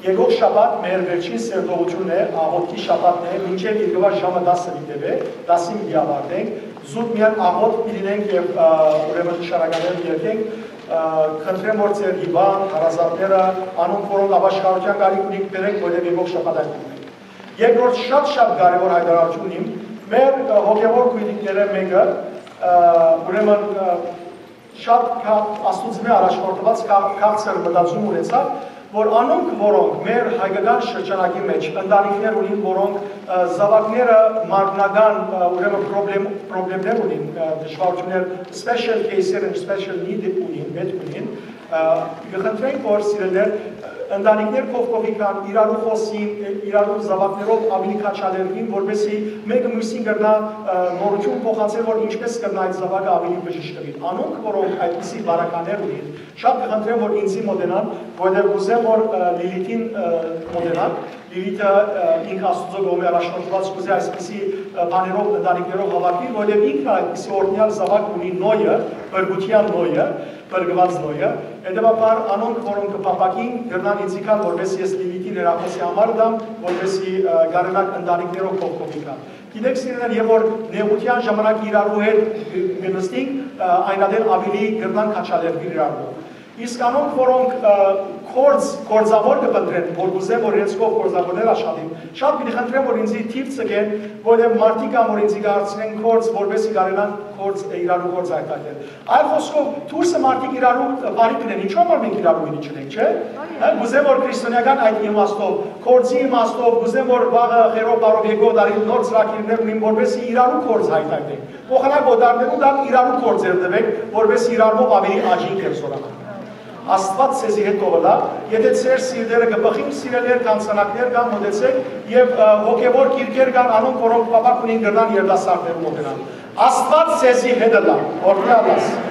եկող շաբաթ մեր վերջին սերտողութիւնն է, աղօթքի շաբաթն է, մինչեւ երկրվա ժամը տասը պիտի տեւէ, տասին պիտի ավարտենք, զուտ միայն աղօթք պիտի լինենք եւ, ը, ուրեմն նշանականներ պիտի երգենք, ը, խնդրեմ, որ ձեր հիվանդ, հարազատները, անոնք, որոնք ապաշխարութեան կարիք ունին, բերեք, որտեղ եկող շաբաթ այդ պիտի ունենք։ Երկրորդ շատ, շատ կարեւոր յայտարարութիւն իմ, մեր, ը, հոգեւոր քույրիկները մէկը, ը, ուրեմն, ը, շատ կա Աստուծմէ առաջնորդուած կա-, քաղցր մտածում ունեցաւ, որ անոնք, որոնք մեր հայկական շրջանակի մեջ ընտանիքներ ունին, որոնք, ը, զաւակները մարմնական, ը, ուրեմն պրոբլեմ-, պրոբլեմներ ունին, ը, դժվարութիւններ, special case-եր են, special need ունին, պետք ունին, ը, կը խնդրենք, որ սիրելիներ, ընտանիքներ կողքովի կան, իրարու խօսին, ը, իրարու զաւակներով աւելի քաջալերուին, որպեսզի մէկը միւսին կրնայ, ը, նորութիւն փոխանցել, որ ինչպես կրնայ այդ զաւակը աւելի բժշկուի։ Անոնք, որոնք այդպիսի բարականեր ունին, շատ կը խնդրեմ, որ ինձի մօտենան, որովհետեւ կ'ուզեմ, որ, ը, Լիլիթին, ը, մօտենան։ Լիլիթը, ը, ինք Աստուծոյ կողմէ առաջնորդուած կ'ուզէ այսպիսի, ը, բաներով, ընտանիքներով հաւաքուի, որովհետեւ ինքը այդպիսի օրհնեալ զաւակ ունի, Նոյը, փրկութեան Նոյը, փրկուած Նոյը։ Հետեւաբար անոնք, որոնք կը փափաքին, կրնան ինձի գալ, որպեսզի ես Լիլիթին հեռախօսի համար տամ, որպեսզի, ը, կարենաք ընտանիքներով կողքովի գալ։ Գիտեք, սիրելիներ, երբ որ նեղութեան ժամանակ իրարու հետ կը նստինք, ը, այն ատեն աւելի կրնանք քաջալերուիլ իրարու։ Իսկ անոնք, որոնք, ը, գործ, գործաւոր կը փնտրեն, որ կ'ուզեմ, որ իրենց կողք գործաւորներ աշխատին, շատ պիտի խնդրեմ, որ ինձի թիւ ցկեն, որովհետեւ մարդիկ կան, որ ինձի կ'հարցնեն գործ, որպեսզի կարենան գործ, իրարու գործ յայտնեն։ Այլ խօսքով, դուրսը մարդիկ իրարու բարի կ'ընեն, ինչո՞ւ համար մենք իրարու մինի չունենք, չէ՞։ Հա, կ'ուզեմ, որ քրիստոնեական այդ իմաստով, գործի իմաստով, կ'ուզեմ, որ վաղը Խերով բարով եկող տարի նոր ծրագիրներ ունին, որպեսզի իրարու գործ յայտնեն։ Փոխանակ օտարներու տակ իրարու գործեր տվեք, որպեսզի իրարմով աւելի աճին կերսորան։ Աստուած ձեզի հետ կ'ըլլայ, եթե ձեր սիրտերը կը բխին, սիրելիներ, կ'անցանակներ կան, մտեցեք, եւ, ը, հոգեւոր գիրքեր կան, անոնք, որոնք փափաք ունին, կրնան երիտասարդներու մօտենան։ Աստուած ձեզի հետ ըլլայ, օրհնեալ ըլլաս։